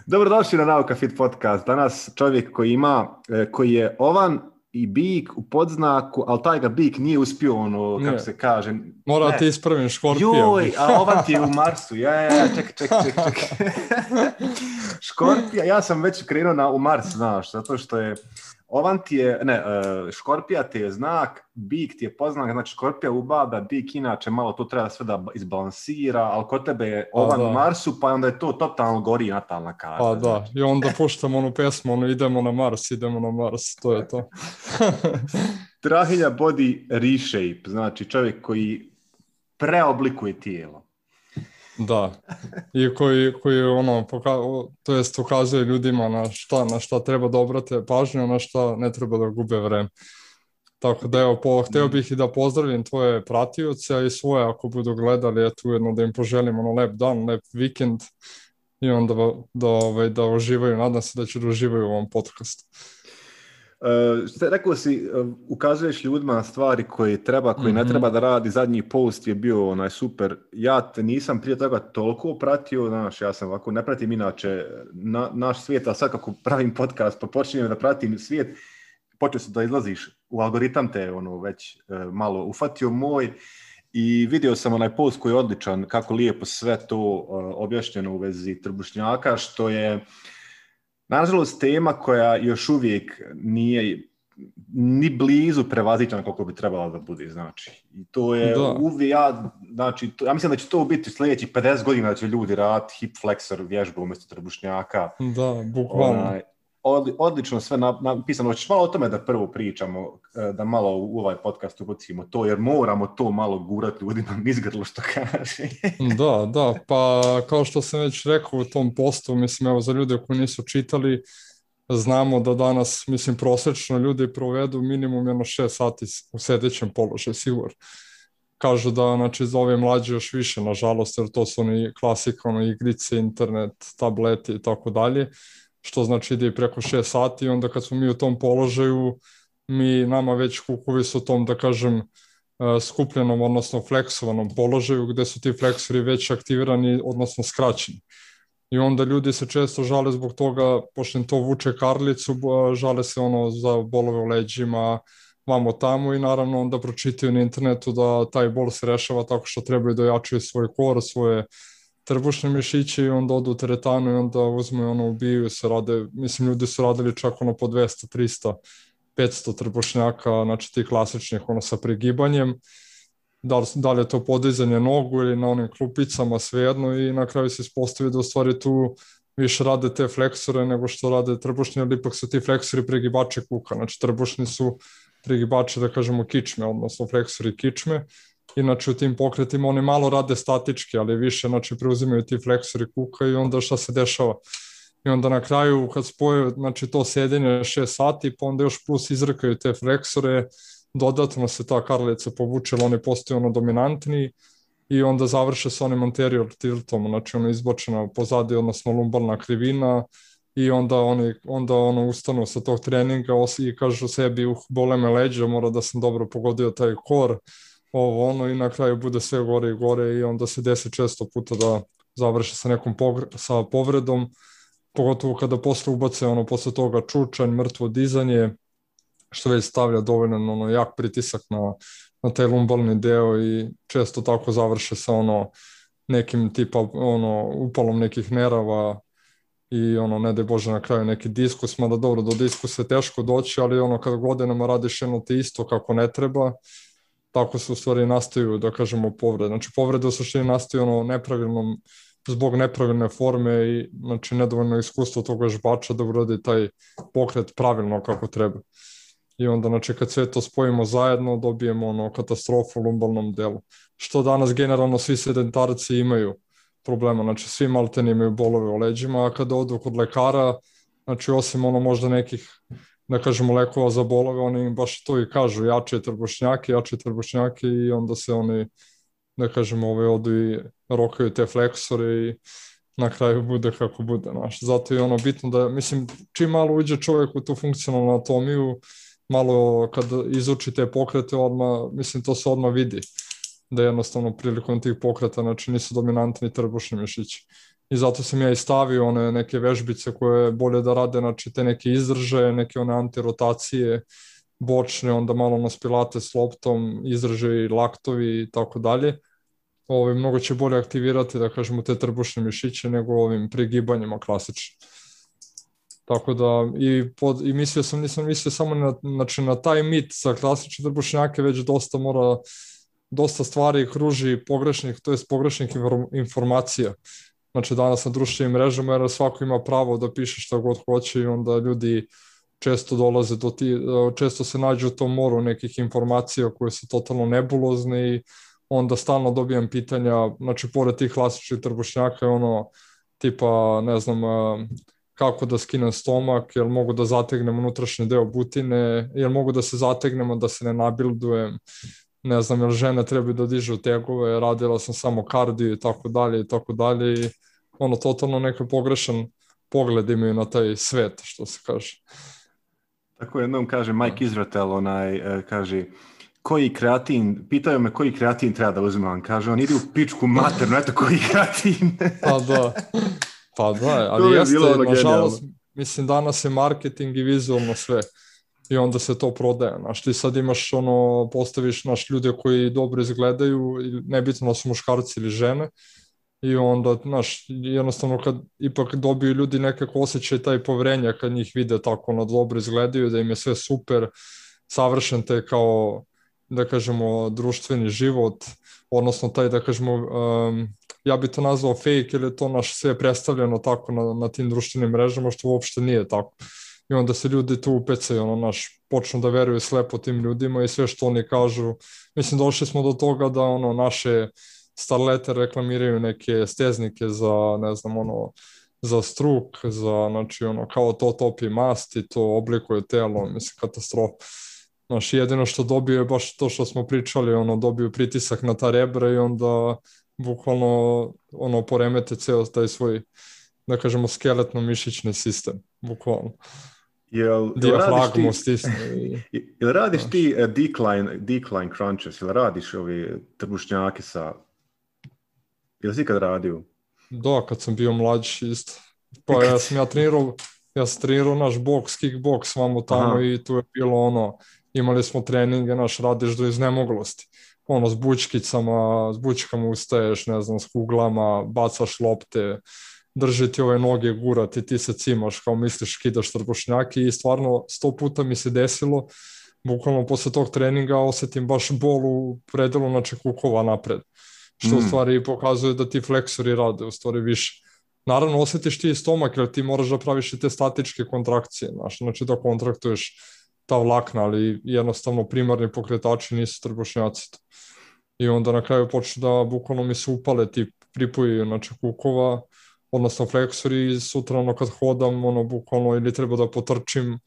Dobrodošli na Nauka Fit podcast. Danas čovjek koji je ovan i bik u podznaku, ali taj ga bik nije uspio, kako se kaže. Mora ti ispravim Škorpijom. Joj, a ovan ti je u Marsu. Čekaj. Škorpija, ja sam već krenuo u Mars, znaš, zato što je ovan ti je, Škorpija ti je znak, bik ti je podznak, znači Škorpija ubada, bik inače malo to treba sve da izbalansira, ali kod tebe je ovan u Marsu, pa onda je to totalno gori natalna karta. Pa da, i onda puštamo onu pesmu, idemo na Mars, to je to. Strahinja body reshape, znači čovjek koji preoblikuje tijelo. Da, i koji ukazuje ljudima na šta treba da obrate pažnju, na šta ne treba da gube vreme. Tako da evo, hteo bih i da pozdravim tvoje pratioce, a i svoje ako budu gledali, eto ujedno da im poželim lep dan, lep vikend i onda da uživaju, nadam se da će da uživaju u ovom podcastu. Rekao si, ukazuješ ljudima na stvari koji ne treba da radi. Zadnji post je bio super. Ja te nisam prije toga toliko pratio, znaš, ja sam ovako, ne pratim inače naš svijet, a sad kako pravim podcast pa počinjem da pratim svijet, počeo se da izlaziš u algoritam te već malo ufatio moj i vidio sam onaj post koji je odličan, kako lijepo sve to objašnjeno u vezi trbušnjaka, što je nažalost tema koja još uvijek nije ni blizu prevaziđena koliko bi trebala da bude, znači. I to je uvijek, ja mislim da će to biti sljedećih 50 godina da će ljudi raditi hip flexor vježbu umjesto trbušnjaka. Da, bukvalno. Odlično sve napisano. Hoćeš malo o tome da prvo pričamo, da malo u ovaj podcast ubacimo to, jer moramo to malo gurati ljudima izgrlo što kaže. Da, pa kao što sam već rekao u tom postu, mislim, evo za ljude koji nisu čitali, znamo da danas, mislim, prosječno ljudi provedu minimum 6 sati u sedećem položaju, sigurno. Kažu da, znači, za ove mlađe još više, nažalost, jer to su oni klasika, igrice, internet, tableti i tako dalje, što znači ide i preko 6 sati i onda kad smo mi u tom položaju, nama već kukovi su u tom, da kažem, skupljenom, odnosno fleksovanom položaju, gde su ti fleksori već aktivirani, odnosno skraćeni. I onda ljudi se često žale zbog toga, pošto im to vuče karlicu, žale se za bolove u leđima, vamo tamo i naravno onda pročitaju na internetu da taj bol se rešava tako što trebaju da jačaju svoj kor, svoje trbušne mišiće i onda odu u teretanu i onda uzmu ubijaju se, rade, mislim ljudi su radili čak po 200, 300, 500 trbušnjaka, znači ti klasičnih sa pregibanjem, da li je to podizanje nogu ili na onim klupicama, svejedno, i na kraju se ispostavi da u stvari tu više rade te fleksore nego što rade trbušni, ali ipak su ti fleksori pregibači kuka, znači trbušni su pregibači, da kažemo, kičme, odnosno fleksori kičme. Inače u tim pokretima oni malo rade statički, ali više, znači, preuzimaju ti fleksori kuka i onda šta se dešava. I onda na kraju kad spoje, znači, to sedenje 6 sati, pa onda još plus izrkaju te fleksore, dodatno se ta karlica povuče, ali oni postaju dominantni i onda završe sa onim anterior tiltom, znači izbočena pozadi, odnosno lumbalna krivina, i onda ustanu sa tog treninga i kažu sebi, bole me leđa, mora da sam dobro pogodio taj kor, i na kraju bude sve gore i gore i onda se desi često puta da završi sa povredom, pogotovo kada posle ubace posle toga čučanj, mrtvo dizanje, što već stavlja dovoljno jak pritisak na taj lumbalni deo i često tako završe sa nekim tipa upalom nekih nerava i ne daj Bože na kraju neki diskus, mada dobro, do diskusa je teško doći, ali kada godinama radiš te isto kako ne treba, tako se u stvari nastaju, da kažemo, povrede. Znači povrede u suštini nastaju zbog nepravilne forme i, znači, nedovoljno iskustvo tog vežbača da uradi taj pokret pravilno kako treba. I onda, znači, kad sve to spojimo zajedno, dobijemo katastrofu u lumbalnom delu. Što danas generalno svi sedentarci imaju problema, znači svi maltene imaju bolove u leđima, a kada odu kod lekara, znači osim možda nekih, da kažemo, lekova za bolove, oni im baš to i kažu, jače trbušnjake i onda se oni, da kažemo, odu i rokaju te fleksore i na kraju bude kako bude. Zato je bitno da, mislim, čim malo uđe čovjek u tu funkcionalnu anatomiju, malo kad izuči te pokrete, odmah, mislim, to se odmah vidi, da jednostavno prilikom tih pokreta, znači, nisu dominantni trbušni mišići. i zato sam ja i stavio one neke vežbice koje bolje da rade, znači te neke izdržaje, neke one antirotacije, bočne, onda malo nas pilate s loptom, izdržaji, laktovi i tako dalje. Mnogo će bolje aktivirati, da kažemo, te trbušne mišiće nego ovim prigibanjima klasično. Tako da, i mislio sam, nisam mislio samo na taj mit za klasične trbušnjake, već dosta stvari kruži pogrešnih, to jest pogrešnih informacija. Znači danas na društvenim mrežama, jer svako ima pravo da piše šta god hoće i onda ljudi često dolaze često se nađu u tom moru nekih informacija koje su totalno nebulozne i onda stalno dobijam pitanja, znači pored tih klasičnih trbušnjaka je tipa, ne znam, kako da skinem stomak, jel mogu da zategnem unutrašnji deo butine, jel mogu da se zategnemo da se ne nabildujem, ne znam, jel žene trebaju da dižu tegove, radila sam samo kardio i tako dalje i tako dalje i totalno neki pogrešan pogled imaju na taj svet, što se kaže. Tako jednom kaže Mike Izratel, kaže koji kreatin, pitaju me koji kreatin treba da uzimam, kaže on ide u pičku maternu, eto koji kreatin. Pa da, ali jeste, nažalost, mislim danas je marketing i vizualno sve i onda se to prodaje, znaš, ti sad imaš postaviš ljude koji dobro izgledaju, nebitno da su muškarci ili žene i onda, znaš, jednostavno kad ipak dobiju ljudi nekako osjećaj taj poverenja kad njih vide tako dobro izgledaju, da im je sve super, savršen te kao, da kažemo, društveni život, odnosno taj, da kažemo, ja bi to nazvao fake, ili je to sve predstavljeno tako na tim društvenim mrežama, što uopšte nije tako. I onda se ljudi tu upecaju, počnu da veruju slepo tim ljudima i sve što oni kažu. Mislim, došli smo do toga da naše starlete reklamiraju neke steznike za, ne znam, za struk, znači kao to topi mast i to oblikuje telo, mislim, katastrofa. Znači, jedino što dobiju je baš to što smo pričali, dobiju pritisak na ta rebra i onda bukvalno poremete ceo taj svoj, da kažemo, skeletno-mišićni sistem, bukvalno. Dijafragmu stisne. Jel radiš ti decline crunches, jel radiš ovi trbušnjake sa... Jel si ikad radio? Da, kad sam bio mlađi isto. Pa ja sam trenirao naš boks, kickboks vamo tamo i tu je bilo imali smo treninge, radiš do iznemoglosti. S bučkama ustaješ, ne znam, s kuglama, bacaš lopte, drži ti ove noge, gurati, ti se cimaš, kao misliš, kidaš trbušnjaki i stvarno 100 puta mi se desilo, bukvalno posle tog treninga osetim baš bol u predelu, znači kukova napred, što u stvari pokazuje da ti fleksori rade u stvari više. Naravno, osjetiš ti stomak, jer ti moraš da praviš i te statičke kontrakcije, znači da kontraktuješ ta vlakna, ali jednostavno primarni pokretači nisu trbušnjaci. I onda na kraju počne da bukvalno mi se upale ti pripoji, znači kukova, odnosno fleksori i sutra kad hodam, bukvalno ili treba da potrčim,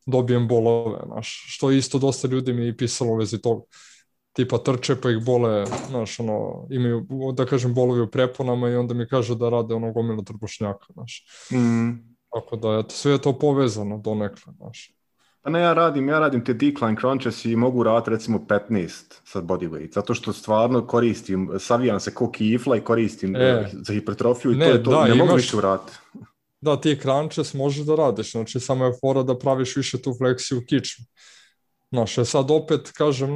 dobijem bolove, što isto dosta ljudi mi je pisalo u vezi toga. Tipa trče pa ih bole, imaju, da kažem, bolovi u preponama i onda mi kaže da rade gomilu trbušnjaka, Tako da, eto, sve je to povezano donekle, Pa ne, ja radim te decline crunches i mogu raditi recimo 15 sa bodyweight, zato što stvarno koristim, savijam se ko kifla i koristim za hipertrofiju i to je to, ne mogu više vratiti. Da, ti crunches možeš da radiš, znači samo je fora da praviš više tu fleksiju u kičmu. Sad opet kažem,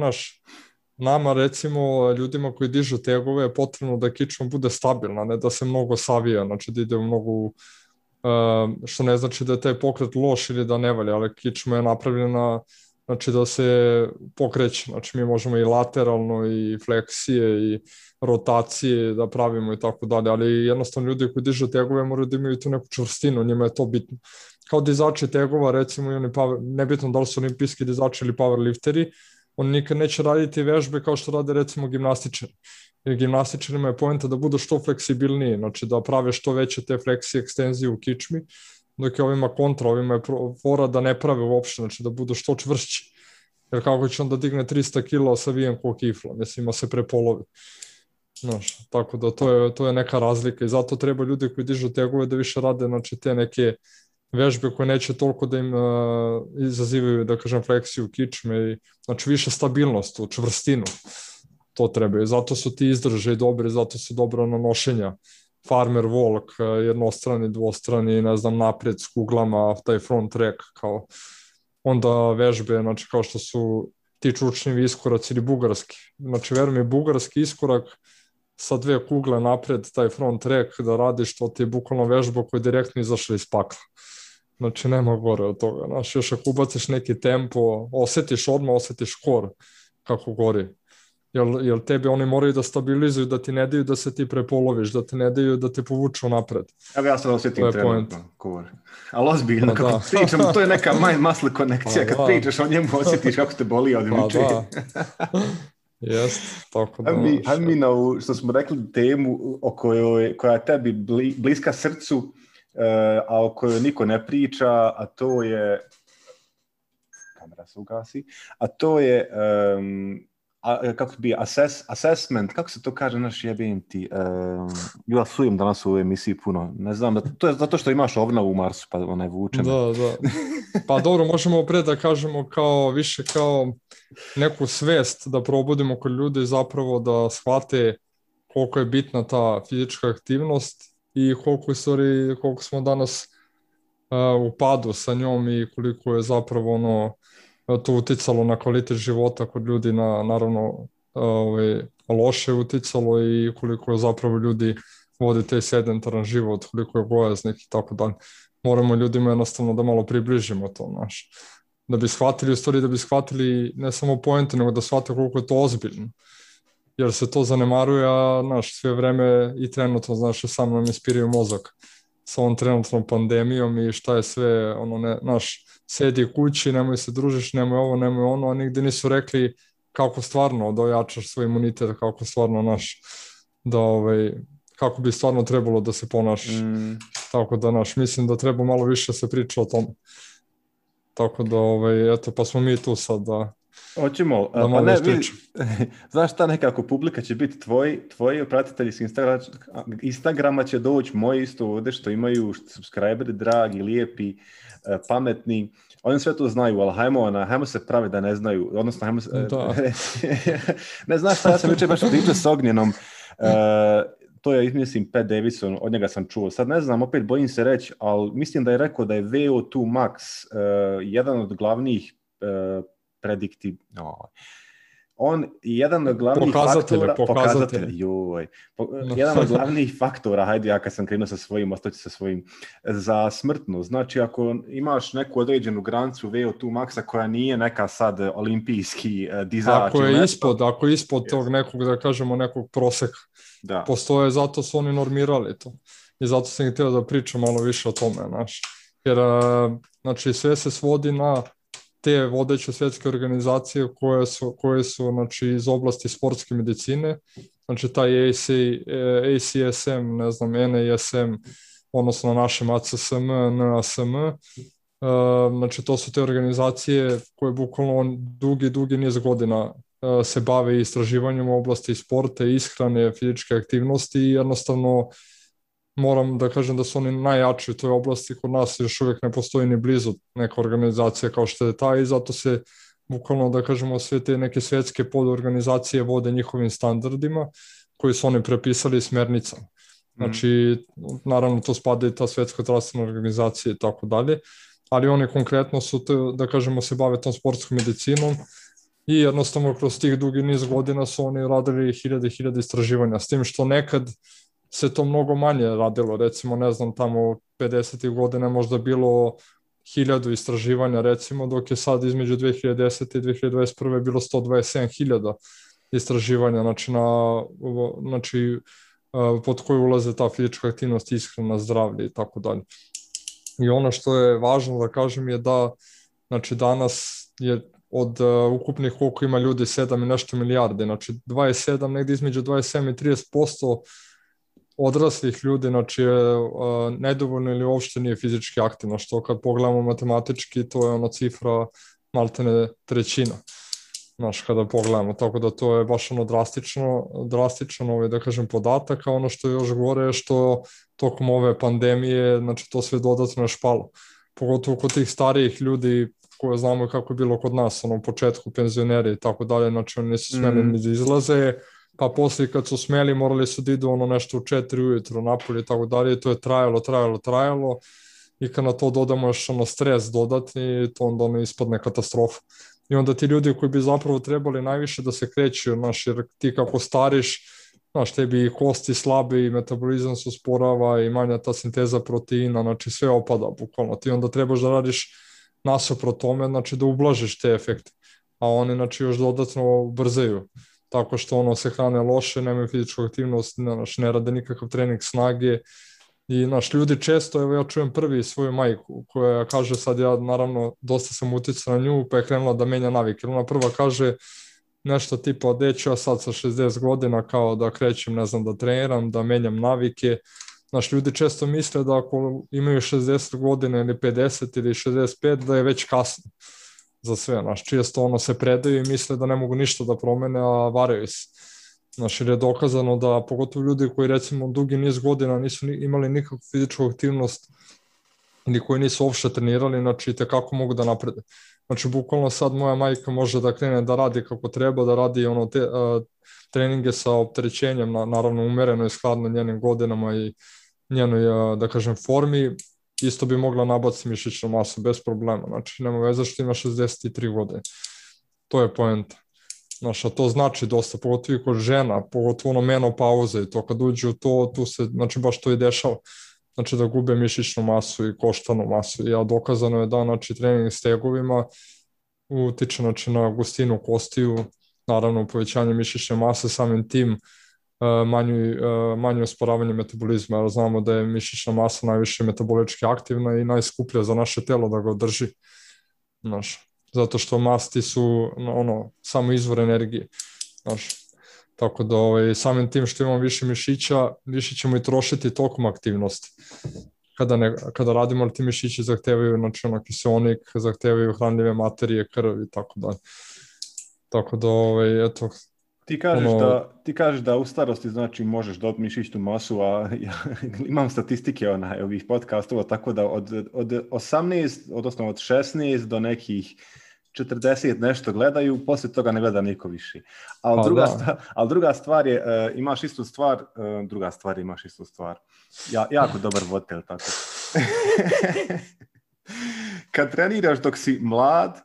nama recimo ljudima koji dižu tegove je potrebno da kičma bude stabilna, ne da se mnogo savija, znači da ide u mnogo... što ne znači da je taj pokret loš ili da ne valja, ali kičma je napravljena, znači da se pokreće, znači mi možemo i lateralno i fleksije i rotacije da pravimo i tako dalje, ali jednostavno ljudi koji dižu tegove moraju da imaju tu neku čvrstinu, njima je to bitno. Kao dizači tegova, recimo, nebitno da li su olimpijski dizači ili powerlifteri, oni nikad neće raditi vežbe kao što rade recimo gimnastičari. Jer gimnastičarima je poenta da budu što fleksibilniji, znači da prave što veće te fleksije, ekstenzije u kičmi, dok je ovima kontra, ovima je fora da ne prave uopšte, znači da budu što čvršći. Jer kako će onda digne 300 kila savijen ko kifla, mislim, ima se prepolovi. Tako da to je neka razlika i zato treba ljudi koji dižu tegove da više rade, znači te neke vežbe koje neće toliko da im izazivaju, da kažem, fleksiju kičme i znači više stabilnost, čvrstinu. To trebaju. Zato su ti izdržaji dobri, zato su dobra nanošenja farmer walk, jednostrani, dvostrani, ne znam, naprijed s kuglama, taj front track, kao onda vežbe, znači kao što su ti čučnjevi iskoraci ili bugarski. Znači, verujem mi, bugarski iskorak sa 2 kugle napred, taj front track da radiš, to ti je bukvalno vežba koja je direktno izašla iz pakla. Znači, nema gore od toga. Znači, još ako ubaciš neki tempo, osjetiš kor kako gori. Jer tebi oni moraju da stabilizuju, da ti ne daju da se ti prepoloviš, da ti ne daju da te povuču napred. Evo ja sad osjetim trenutno kor. Ali ozbiljno, kako pričam, to je neka mind muscle konekcija. Kad pričaš o njemu, osjetiš kako te boli od muče. Jest, tako da. Hajde mi na ovu, što smo rekli, temu koja je tebi bliska srcu, a o kojoj niko ne priča, a to je, kamera se ugasi, a to je, kako bi, assessment, kako se to kaže, naš jebim ti, ja sujem danas u ovoj emisiji puno, ne znam, to je zato što imaš ovna u Marsu, pa ona je vučena. Da. Pa dobro, možemo opred da kažemo kao, više kao neku svest da probudimo kod ljudi zapravo da shvate koliko je bitna ta fizička aktivnost i koliko smo danas u padu sa njom i koliko je zapravo to uticalo na kvalitet života kod ljudi, naravno loše uticalo i koliko je zapravo ljudi vodi taj sedentaran život, koliko je gojaznih i tako dalje. Moramo ljudima jednostavno da malo približimo to, da bi shvatili ne samo poente, nego da shvate koliko je to ozbiljno. Jer se to zanemaruje, a sve vreme i trenutno, sam nam ispiraju mozak sa ovom trenutnom pandemijom i šta je sve, sedi kući, nemoj se družiš, nemoj ovo, nemoj ono, a nigde nisu rekli kako stvarno da ojačaš svoj imunitet, kako stvarno kako bi stvarno trebalo da se ponašaš. Tako da mislim da treba malo više se priča o tome. Tako da, eto, pa smo mi tu sad da hoćemo, pa ne, znaš šta, nekako publika će biti tvoji pratitelji s Instagrama će doći, moji isto ovdje što imaju subscriberi dragi, lijepi, pametni, oni sve to znaju, ali hajmo se pravi da ne znaju, odnosno hajmo se, ne znaš šta, ja sam jučer baš pričao s Ognjenom, to je, mislim, Pat Davison, od njega sam čuo. Sad ne znam, opet bojim se reći, ali mislim da je rekao da je VO2 max jedan od glavnih jedan od glavnih jedan od glavnih faktora, hajde ja kad sam krenuo sa svojim, ostaći sa svojim, za smrtnost. Znači ako imaš neku određenu granicu VO2 maxa koja nije neka sad olimpijski dizač. Ako je ispod tog nekog, da kažemo, nekog proseka, postoje, zato su oni normirali to. I zato sam htio da pričam malo više o tome, jer znači sve se svodi na te vodeće svjetske organizacije koje su znači, iz oblasti sportske medicine, znači taj ACSM, ne znam, NASM, odnosno našem ACSM, NASM, znači to su te organizacije koje bukvalno dugi niz godina se bave istraživanjem u oblasti sporta, ishrane, fizičke aktivnosti i jednostavno moram da kažem da su oni najjači u toj oblasti, kod nas još uvijek ne postoji ni blizu neka organizacija kao što je ta i zato se bukvalno, da kažemo, sve te neke svjetske podorganizacije vode njihovim standardima koji su oni prepisali smernicama. Znači, naravno to spada i ta svjetska zdravstvena organizacija i tako dalje, ali oni konkretno su, da kažemo, se bave tom sportskom medicinom i jednostavno kroz tih dugi niz godina su oni radili hiljade istraživanja, s tim što nekad se to mnogo manje radilo, recimo, ne znam, tamo 50. godina možda bilo 1000 istraživanja, recimo, dok je sad između 2010. i 2021. bilo 127.000 istraživanja, znači pod koje ulaze ta fizička aktivnost, ishrana, zdravlje i tako dalje. I ono što je važno da kažem je da, znači, danas je od ukupnih koliko ima ljudi 7 i nešto milijarde, znači 27, negdje između 27 i 30% odraslih ljudi, znači nedovoljno ili uopšte nije fizički aktivno, što kad pogledamo matematički to je ona cifra maltene trećina, znači kada pogledamo, tako da to je baš ono drastičan da kažem podatak, a ono što je još gore je što tokom ove pandemije, znači to sve dodatno je špalo, pogotovo kod tih starijih ljudi koje znamo kako je bilo kod nas, u početku penzioneri i tako dalje, znači oni nisu smjeli ni da izlaze, pa poslije kad su smeli morali su da idu nešto u 4 ujutro napolje i tako dalje, to je trajalo i kad na to dodamo još stres dodatni, to onda ispadne katastrofa. I onda ti ljudi koji bi zapravo trebali najviše da se kreću, jer ti kako stariš, tebi i kosti slabi, i metabolizam se usporava i manja ta sinteza proteina, znači sve opada bukvalno. Ti onda trebaš da radiš nasuprot tome, da ublažiš te efekte. A oni još dodatno ubrzaju. Tako što se hrane loše, nemaju fizičku aktivnost, ne rade nikakav trening snage. I ljudi često, evo ja čujem prvi svoju majku koja kaže, sad ja naravno dosta sam uticao na nju, pa je krenula da menja navike. Ona prva kaže nešto tipa, ću ja sad sa 60 godina kao da krećem, ne znam, da treniram, da menjam navike. Ljudi često misle da ako imaju 60 godina ili 50 ili 65 da je već kasno za sve. Često se predaju i misle da ne mogu ništa da promene, a varaju se. Jer je dokazano da pogotovo ljudi koji recimo dugi niz godina nisu imali nikakvu fizičku aktivnost ili koji nisu uopšte trenirali, tekako mogu da naprede. Bukvalno sad moja majka može da krene da radi kako treba, da radi treninge sa opterećenjem, naravno umereno i skladno njenim godinama i njenoj, da kažem, formi, isto bi mogla nabaciti mišićnu masu bez problema. Nema veze što ima 63 godine. To je poenta. A to znači dosta, pogotovo i kod žena, pogotovo menopauze i to kad uđe u to, tu se, baš to i dešava. Da gube mišićnu masu i koštanu masu. Ja dokazano je da, trening s tegovima utiče, na gustinu kostiju, naravno povećanje mišićne mase, samim tim manje usporavanje metabolizma, jer znamo da je mišićna masa najviše metabolički aktivna i najskuplja za naše telo da ga održi. Zato što masti su samo izvor energije. Tako da samim tim što imamo više mišića, više ćemo i trošiti tokom aktivnosti. Kada radimo, ali ti mišići zahtevaju kiseonik, zahtevaju hranljive materije, krv i tako dalje. Tako da, eto... Ti kažeš da u starosti možeš dobiti mišićnu masu, a ja imam statistike ovih podcastova, tako da od 18, odnosno od 16 do nekih 40 nešto gledaju, poslije toga ne gleda niko više. Ali druga stvar je, imaš istu stvar, jako dobar voditelj, tako. Kad treniraš dok si mlad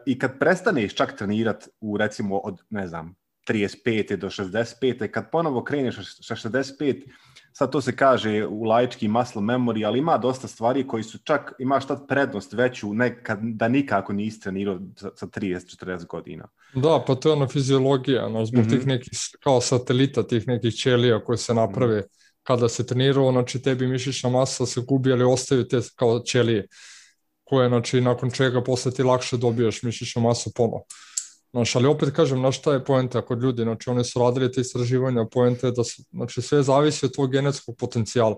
i kad prestaneš čak trenirati u recimo od, ne znam, 35. do 65. kad ponovo kreneš sa 65, sad to se kaže u laički muscle memory, ali ima dosta stvari koji su čak, imaš tad prednost veću da nikako nisi trenirao sa 30-40 godina. Da, pa to je fiziologija, zbog tih nekih kao satelita, tih nekih ćelija koje se naprave kada se trenirao, tebi mišićna masa se gubi, ali ostaju te kao ćelije koje, nakon čega posle ti lakše dobijaš mišićnu masu ponovo. Ali opet kažem, šta je poenta kod ljudi, oni su radili te istraživanja, poenta je da sve zavisi od tvojeg genetskog potencijala.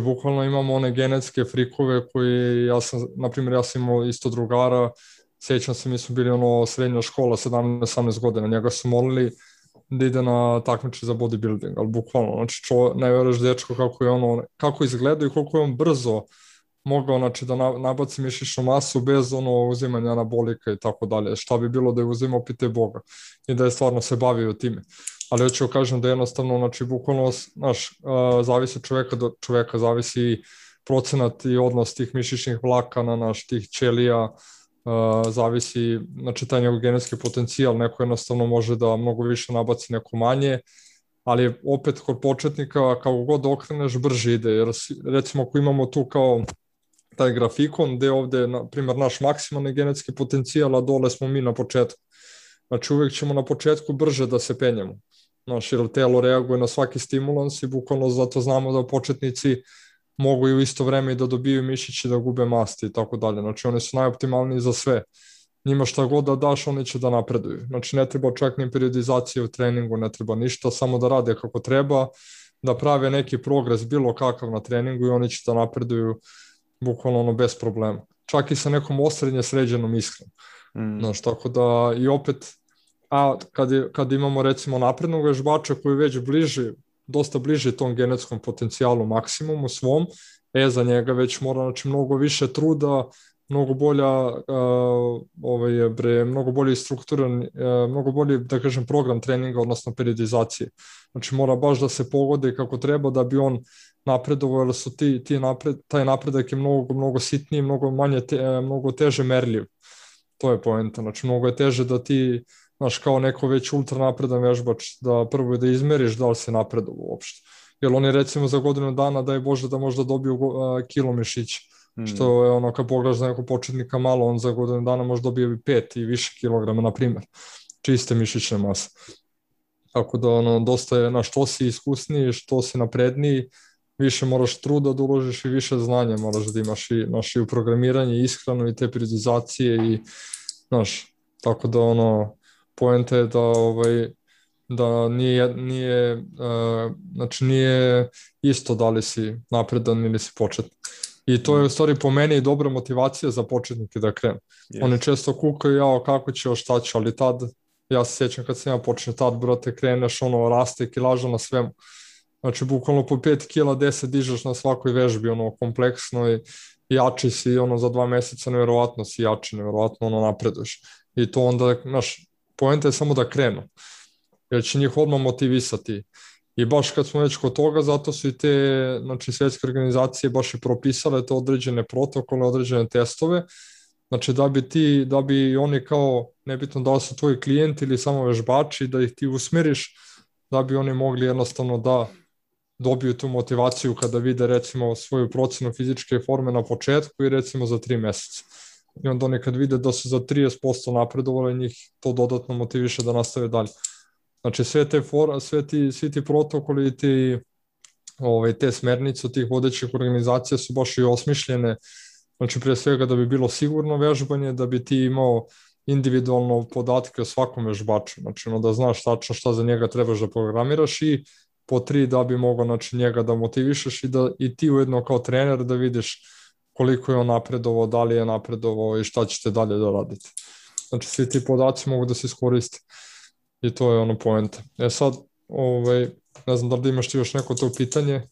Bukvalno imamo one genetske frikove koji, ja sam imao isto drugara, sjećam se, mi su bili srednja škola, 17-18 godina, njega su molili da ide na takmiče za bodybuilding, ali bukvalno, ne veruješ dečko kako izgleda i koliko je on brzo mogao da nabaci mišićnu masu bez uzimanja anabolika i tako dalje. Šta bi bilo da je uzimao pite Boga i da je stvarno se bavio time. Ali hoću kažem da jednostavno, bukvalno, zavisi čoveka do čoveka, zavisi procenat i odnos tih mišićnih vlakana, tih ćelija, zavisi, taj njegov genetski potencijal, neko jednostavno može da mnogo više nabaci, neko manje, ali opet kod početnika, kako god okreneš, brže ide, jer recimo ako imamo tu kao taj grafikon gde je ovde, na primjer, naš maksimalni genetski potencijal, a dole smo mi na početku. Uvijek ćemo na početku brže da se penjemo. Jer telo reaguje na svaki stimulans i bukvalno zato znamo da početnici mogu i u isto vreme i da dobiju mišići, da gube masti i tako dalje. Oni su najoptimalniji za sve. Njima šta god da daš, oni će da napreduju. Ne treba čak ni periodizacije u treningu, ne treba ništa, samo da rade kako treba, da prave neki progres bilo kakav na treningu i oni će da napreduju bukvalno bez problema. Čak i sa nekom osrednje sređenom ishranom. Tako da i opet, kad imamo recimo naprednog vežbača koji je već dosta bliži tom genetskom potencijalu maksimumu svom, za njega već mora mnogo više truda mnogo bolja, mnogo bolji strukturan, mnogo bolji, da kažem, program treninga, odnosno periodizacije. Znači mora baš da se pogodi kako treba da bi on napredovao, jer su taj napredak je mnogo sitniji, mnogo teže merljiv. To je poenta. Znači mnogo je teže da ti, znaš, kao neko već ultra napredan vežbač, da prvo da izmeriš da li se napredovao uopšte. Jer oni recimo za godinu dana, daj Bože, da možda dobiju kilo mišića. Što je ono, kad pogledaš za nekog početnika malo, on za godinu dana može dobije 5 i više kilograma, na primjer, čiste mišićne mase. Tako da ono, dosta je, što si iskusniji, što si napredniji, više moraš truda da uložiš i više znanja moraš da imaš i u programiranje, ishranu i te periodizacije i, tako da ono, poenta je da nije isto da li si napredan ili si početnik. I to je u stvari po meni dobra motivacija za početnike da krenu. Yes. Oni često kukaju, kako će, šta će, ali tad, ja se sjećam kad sam ja počeo, tad, brate, kreneš, raste kilaža na svemu. Znači, bukvalno po 5 kila 10 dižeš na svakoj vežbi, kompleksno i jači si, za 2 mjeseca nevjerovatno si jači, nevjerovatno napreduješ. I to onda, poenta je samo da krenu, jer će njih odmah motivisati. I baš kad smo već kod toga, zato su i te svjetske organizacije baš i propisale to određene protokole, određene testove, znači da bi oni kao, nebitno da li su tvoji klijenti ili samo vežbači, da ih ti usmeriš, da bi oni mogli jednostavno da dobiju tu motivaciju kada vide recimo svoju procenu fizičke forme na početku i recimo za 3 mjeseca. I onda oni kad vide da su za 30% napredovali, njih to dodatno motiviše da nastave dalje. Znači svi ti protokoli i te smernice od tih vodećih organizacija su baš i osmišljene, znači prije svega da bi bilo sigurno vežbanje, da bi ti imao individualno podatke o svakom vežbaču, znači da znaš tačno šta za njega trebaš da programiraš i po 3 da bi mogao njega da motivišeš i ti ujedno kao trener da vidiš koliko je on napredovao, da li je napredovao i šta ćete dalje da radite. Znači svi ti podaci mogu da se iskoriste. I to je poenta. Sad, ne znam da li imaš ti još neko to pitanje?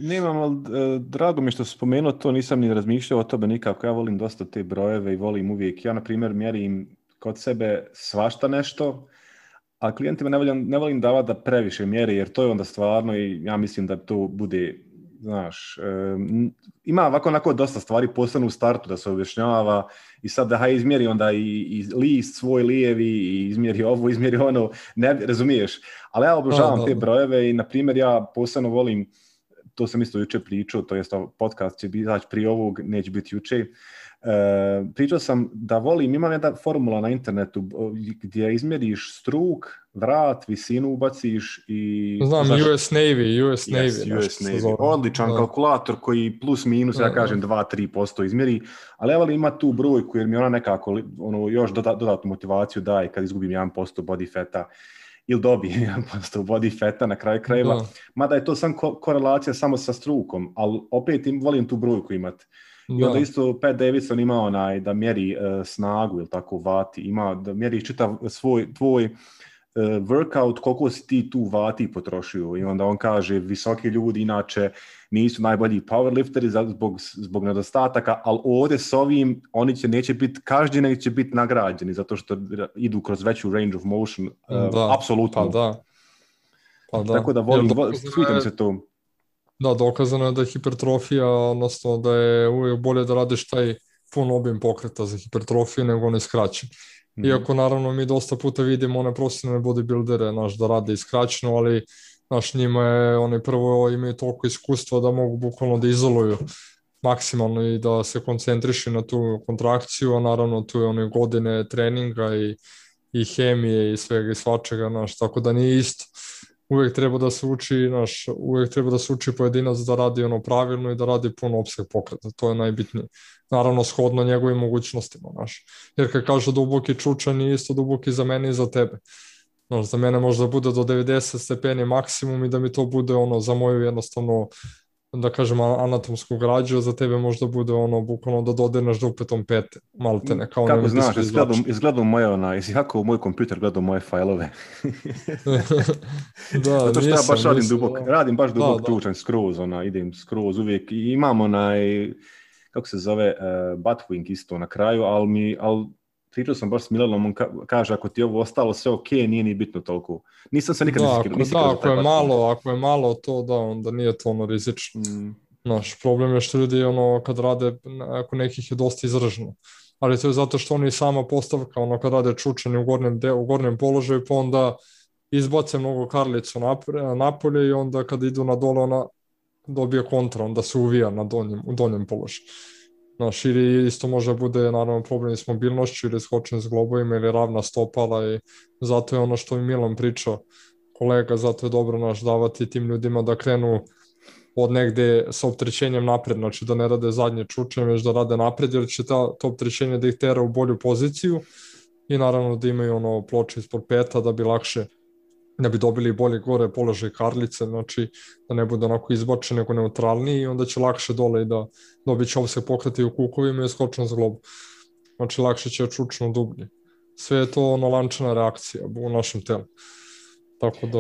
Nemam, ali drago mi što spomenuo to, nisam ni razmišljao o tome nikako. Ja volim dosta te brojeve i volim uvijek. Ja, na primjer, mjerim kod sebe svašta nešto, a klijentima ne volim davati da previše mjeri, jer to je onda stvarno i ja mislim da to bude, ima ovako dosta stvari posebno u startu da se objašnjava i sad da izmjeri onda i list svoj lijevi i izmjeri ovo, izmjeri ono, ne razumiješ, ali ja obožavam te brojeve i na primjer ja posebno volim, to sam isto jučer pričao, to jest podcast će biti prije ovog, neće biti jučer. Pričao sam da volim, imam jedna formula na internetu gdje izmjeriš struk, vrat, visinu ubaciš i... Znam, US Navy. Yes, US Navy. Odličan kalkulator koji plus minus, ja kažem 2-3% izmjeri, ali evo li ima tu brojku jer mi ona nekako još dodatnu motivaciju daje kad izgubim 1% body fata ili dobijem 1% body fata na kraju krajeva, mada je to sam korelacija samo sa strukom, ali opet volim tu brojku imati. I onda isto Pat Davidson ima da mjeri snagu ili tako vati, ima da mjeri čitav tvoj workout, koliko si ti tu vati potrošio i onda on kaže visoki ljudi inače nisu najbolji powerlifteri zbog nedostataka, ali ovdje s ovim oni neće biti kažnjeni, nego će biti nagrađeni zato što idu kroz veću range of motion, apsolutno. Pa da. Tako da volim, sviđa mi se to. Da, dokazano je da je hipertrofija, odnosno da je uvijek bolje da radiš taj pun obim pokreta za hipertrofiju nego onaj skraćen. Iako naravno mi dosta puta vidimo one profesionalne bodybuildere da rade iskraćeno, ali njima je, oni prvo imaju toliko iskustva da mogu bukvalno da izoluju maksimalno i da se koncentrišu na tu kontrakciju, a naravno tu je one godine treninga i hemije i svega i svačega, tako da nije isto. Uvijek treba da se uči pojedinac da radi pravilno i da radi pun opseg pokreta, to je najbitnije. Naravno shodno njegovim mogućnostima, jer kad kažu duboki čučan nije isto duboki za mene i za tebe. Za mene možda bude do 90 stepeni maksimum i da mi to bude za moju jednostavno, da kažem, anatomsku građu, a za tebe možda bude bukvalno da dodirneš dupetom pete, maltene. Kako znaš, izgledao kako moj kompjuter gledao moje fajlove. Zato što ja baš radim baš dubok čučan, skroz, idem skroz uvijek i imam kako se zove, Buttwink isto na kraju, ali pričao sam baš s Milanom, on kaže ako ti je ovo ostalo sve ok, nije ni bitno toliko. Nisam se nikad ako je malo to, da, onda nije to ono rizično. Naš problem je što ljudi kad rade, ako nekih je dosta izraženo. Ali to je zato što oni sama postavka, kad rade čučani u gornjem položaju, pa onda izbace mnogo karlicu napolje i onda kad idu na dole, ona dobije kontra, onda se uvija u donjem položaju. Naš, ili isto može bude naravno problem s mobilnošću ili skočen s globovima ili ravna stopala i zato je ono što mi Milan pričao, kolega, zato je dobro davati tim ljudima da krenu od negde sa opterećenjem napred, znači da ne rade zadnje čuče, već da rade napred, jer će to opterećenje da ih tera u bolju poziciju i naravno da imaju ploče ispod peta da bi lakše, da bi dobili bolje gore položaj karlice, znači da ne bude onako izbačen nego neutralniji i onda će lakše dole i da dobit će se pokreti u kukovima i skočen s globu. Znači lakše će čučno dublje. Sve je to lančana reakcija u našem telu. Tako da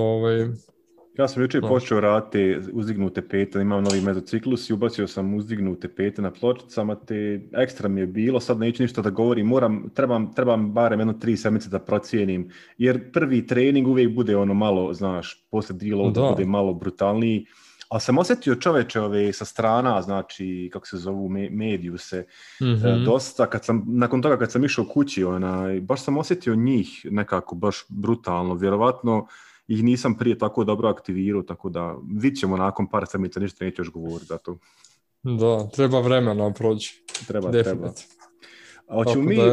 ja sam jučer počeo raditi uzdignute pete, imam novi mezociklus i ubacio sam uzdignute pete na pločicama, te ekstra mi je bilo, sad neću ništa da govorim, trebam barem 3 sedmice da procijenim, jer prvi trening uvijek bude malo, znaš, poslije deloada bude malo brutalniji, ali sam osjetio čoveče sa strana, znači, kako se zovu, mediju se, dosta, nakon toga kad sam išao kući, baš sam osjetio njih nekako baš brutalno, vjerovatno ih nisam prije tako dobro aktivirao, tako da vidit ćemo nakon par sedmica, ništa neću još govoriti za to. Da, treba vremena proći. Treba.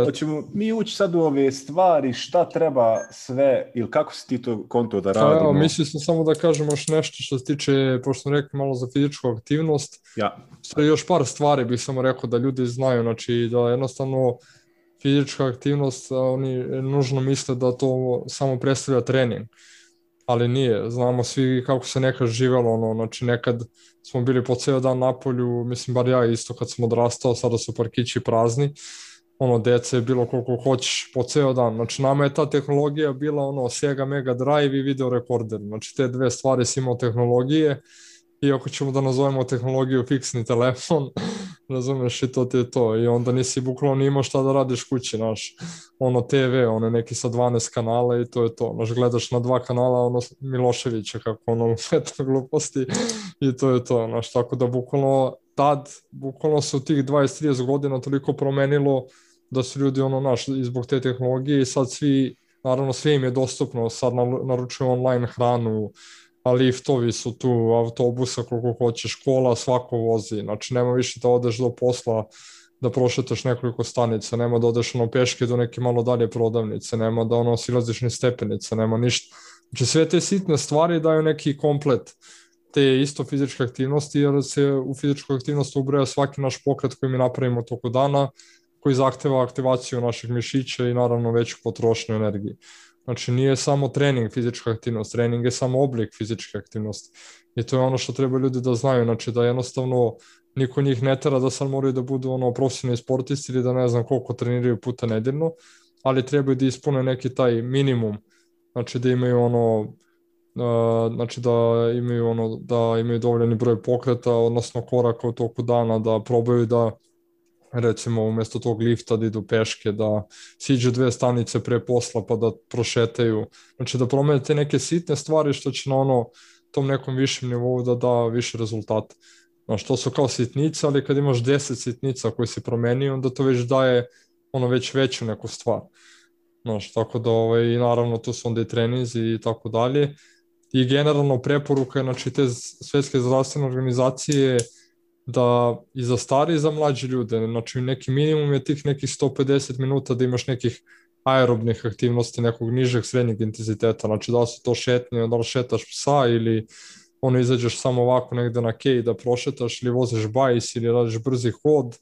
Hoćemo mi ući sad u ove stvari, šta treba sve, ili kako si ti to konto da radimo? Evo, mislim samo da kažemo još nešto što se tiče, pošto smo rekli malo za fizičku aktivnost. Ja. Još par stvari bih samo rekao da ljudi znaju, znači da jednostavno fizička aktivnost, oni nužno misle da to samo predstavlja trening. Ali nije, znamo svi kako se nekad živelo, znači nekad smo bili po ceo dan na polju, mislim bar ja isto kad sam odrastao, sada su parkići prazni, dece je bilo koliko hoćeš po ceo dan, znači nama je ta tehnologija bila Sega Mega Drive i video rekorder, znači te dve stvari si imao tehnologije, i ako ćemo da nazovemo tehnologiju fiksni telefon, razumeš, i to ti je to, i onda nisi bukvalno ni imao šta da radiš kući, znaš, TV, neki sa 12 kanala i to je to, znaš, gledaš na 2 kanala, Miloševića, kako leta gluposti, i to je to, znaš, tako da bukvalno se u tih 20-30 godina toliko promenilo da su ljudi, znaš, i zbog te tehnologije i sad svi, naravno sve im je dostupno, sad naručuju online hranu, a liftovi su tu, autobusa koliko hoćeš, škola, svako vozi, znači nema više da odeš do posla, da prošetaš nekoliko stanica, nema da odeš peške do neke malo dalje prodavnice, nema da silaziš ni stepenice, nema ništa. Znači sve te sitne stvari daju neki komplet te isto fizičke aktivnosti, jer se u fizičku aktivnost ubraja svaki naš pokret koji mi napravimo toko dana, koji zahteva aktivaciju naših mišića i naravno veću potrošnju energije. Znači nije samo trening fizička aktivnost, trening je samo oblik fizičke aktivnosti. I to je ono što treba ljudi da znaju, znači da jednostavno niko njih ne tera da sad moraju da budu profesionalni sportisti ili da ne znam koliko treniraju puta nedeljno, ali trebaju da ispune neki taj minimum, znači da imaju da imaju dovoljeni broj pokreta, odnosno koraka u toku dana, da probaju da recimo umjesto tog lifta da idu peške, da siđu 2 stanice pre posla pa da prošetaju, znači da promene te neke sitne stvari što će na tom nekom višem nivou da da više rezultata. Znači to su kao sitnice, ali kad imaš 10 sitnica koje si promenio, onda to već daje već veću neku stvar. Znači, tako da i naravno tu su onda i treninzi i tako dalje. I generalno preporuka je, znači te Svetske zdravstvene organizacije da i za stari i za mlađe ljude, znači neki minimum je tih nekih 150 minuta da imaš nekih aerobnih aktivnosti, nekog nižeg srednjeg intenziteta, znači da li su to šetnje, da li šetaš psa ili izađeš samo ovako negde na kej da prošetaš ili voziš bajs ili radiš brzi hod,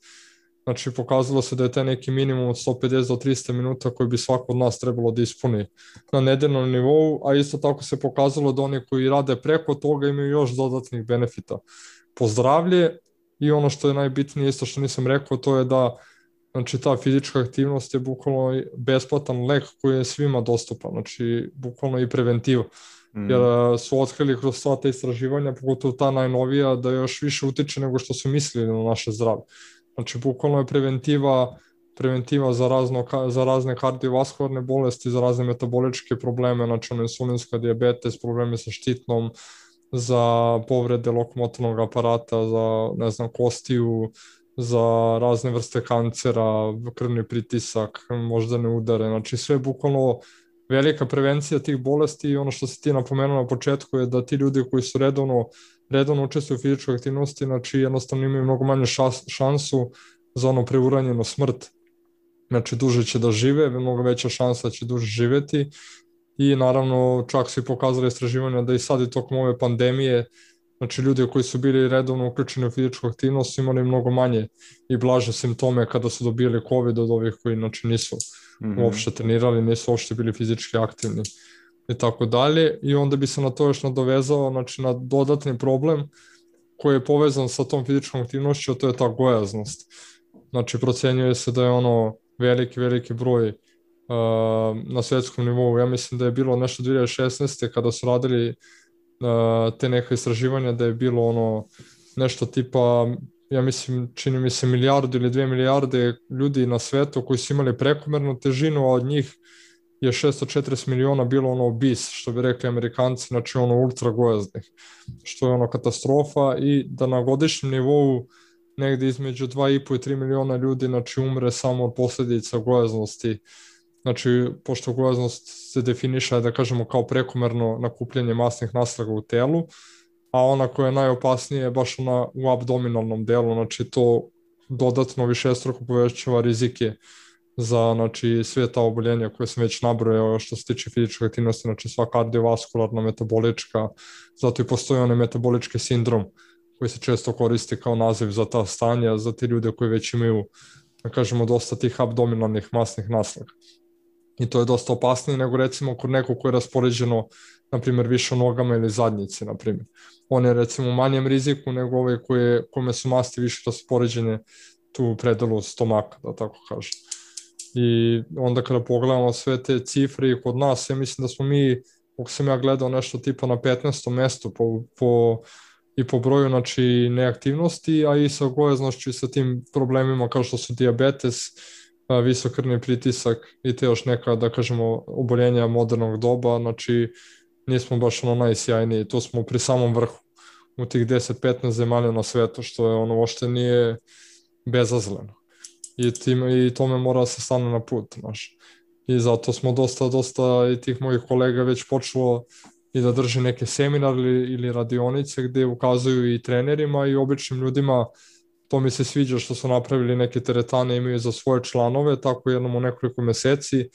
znači pokazalo se da je taj neki minimum od 150 do 300 minuta koji bi svako od nas trebalo da ispuni na nedeljnom nivou, a isto tako se pokazalo da oni koji rade preko toga imaju još dodatnih benefita po zdravlje. I ono što je najbitnije, isto što nisam rekao, to je da znači, ta fizička aktivnost je bukvalno besplatan lek koji je svima dostupan, znači bukvalno i preventiva. Jer su otkrili kroz sva ta istraživanja, pogotovo ta najnovija, da još više utiče nego što su mislili na naše zdravlje. Znači, bukvalno je preventiva za razne kardiovaskularne bolesti, za razne metaboličke probleme, znači insulinska dijabetes, probleme sa štitnom, za povrede lokomotornog aparata, za, ne znam, kostiju, za razne vrste kancera, krvni pritisak, moždane udare, znači sve bukvalno velika prevencija tih bolesti. I ono što si ti napomenuo na početku je da ti ljudi koji su redovno učestvuju u fizičkoj aktivnosti, znači jednostavno imaju mnogo manje šansu za ono preuranjenu smrt. Znači duže će da žive, mnogo veća šansa da će duže živeti. I naravno čak su i pokazali istraživanja da i sad i tokom ove pandemije, znači ljudi koji su bili redovno uključeni u fizičku aktivnost su imali mnogo manje i blaže simptome kada su dobili COVID od ovih koji znači nisu uopšte trenirali, nisu uopšte bili fizički aktivni i tako dalje. I onda bi se na to još nadovezao, znači na dodatni problem koji je povezan sa tom fizičkom aktivnošću, a to je ta gojaznost. Znači procenjuje se da je ono veliki broj na svetskom nivou. Ja mislim da je bilo nešto 2016. kada su radili te neke istraživanja, da je bilo ono nešto tipa, ja mislim, čini mi se 1 ili 2 milijarde ljudi na svetu koji su imali prekomernu težinu, a od njih je 640 miliona bilo ono obese, što bi rekli Amerikanci, znači ono ultra gojaznih, što je ono katastrofa. I da na godišnjem nivou negde između 2,5 i 3 miliona ljudi znači umre samo od posljedica gojaznosti. Znači, pošto gojaznost se definiše, da kažemo, kao prekomerno nakupljanje masnih naslaga u telu, a ona koja je najopasnija je baš ona u abdominalnom delu, znači to dodatno višestruko povećava rizike za znači, sve ta oboljenja koje sam već nabrojao što se tiče fizičke aktivnosti, znači sva kardiovaskularna, metabolička, zato i postoji onaj metabolički sindrom koji se često koristi kao naziv za ta stanja, za te ljude koji već imaju, da kažemo, dosta tih abdominalnih masnih naslaga. I to je dosta opasnije nego recimo kod nekog koje je raspoređeno, na primjer, više u nogama ili zadnjici, na primjer. On je recimo u manjem riziku nego ove kome su masti više raspoređene tu u predelu stomaka, da tako kažem. I onda kada pogledamo sve te cifre i kod nas, ja mislim da smo mi, kako sam ja gledao, nešto tipa na 15. mestu i po broju znači, neaktivnosti, a i sa gojaznošću i sa tim problemima kao što su dijabetes, visok krvni pritisak i te još neka, da kažemo, oboljenja modernog doba, znači nismo baš ono najsjajniji, tu smo pri samom vrhu u tih 10-15 zemalja na svetu, što je ono uopšte nije bezazleno. I tome mora se stane na put, znaš. I zato smo dosta i tih mojih kolega već počelo i da drži neke seminare ili radionice gde ukazuju i trenerima i običnim ljudima. To mi se sviđa što su napravili neke teretane, imaju za svoje članove, tako jednom u nekoliko meseci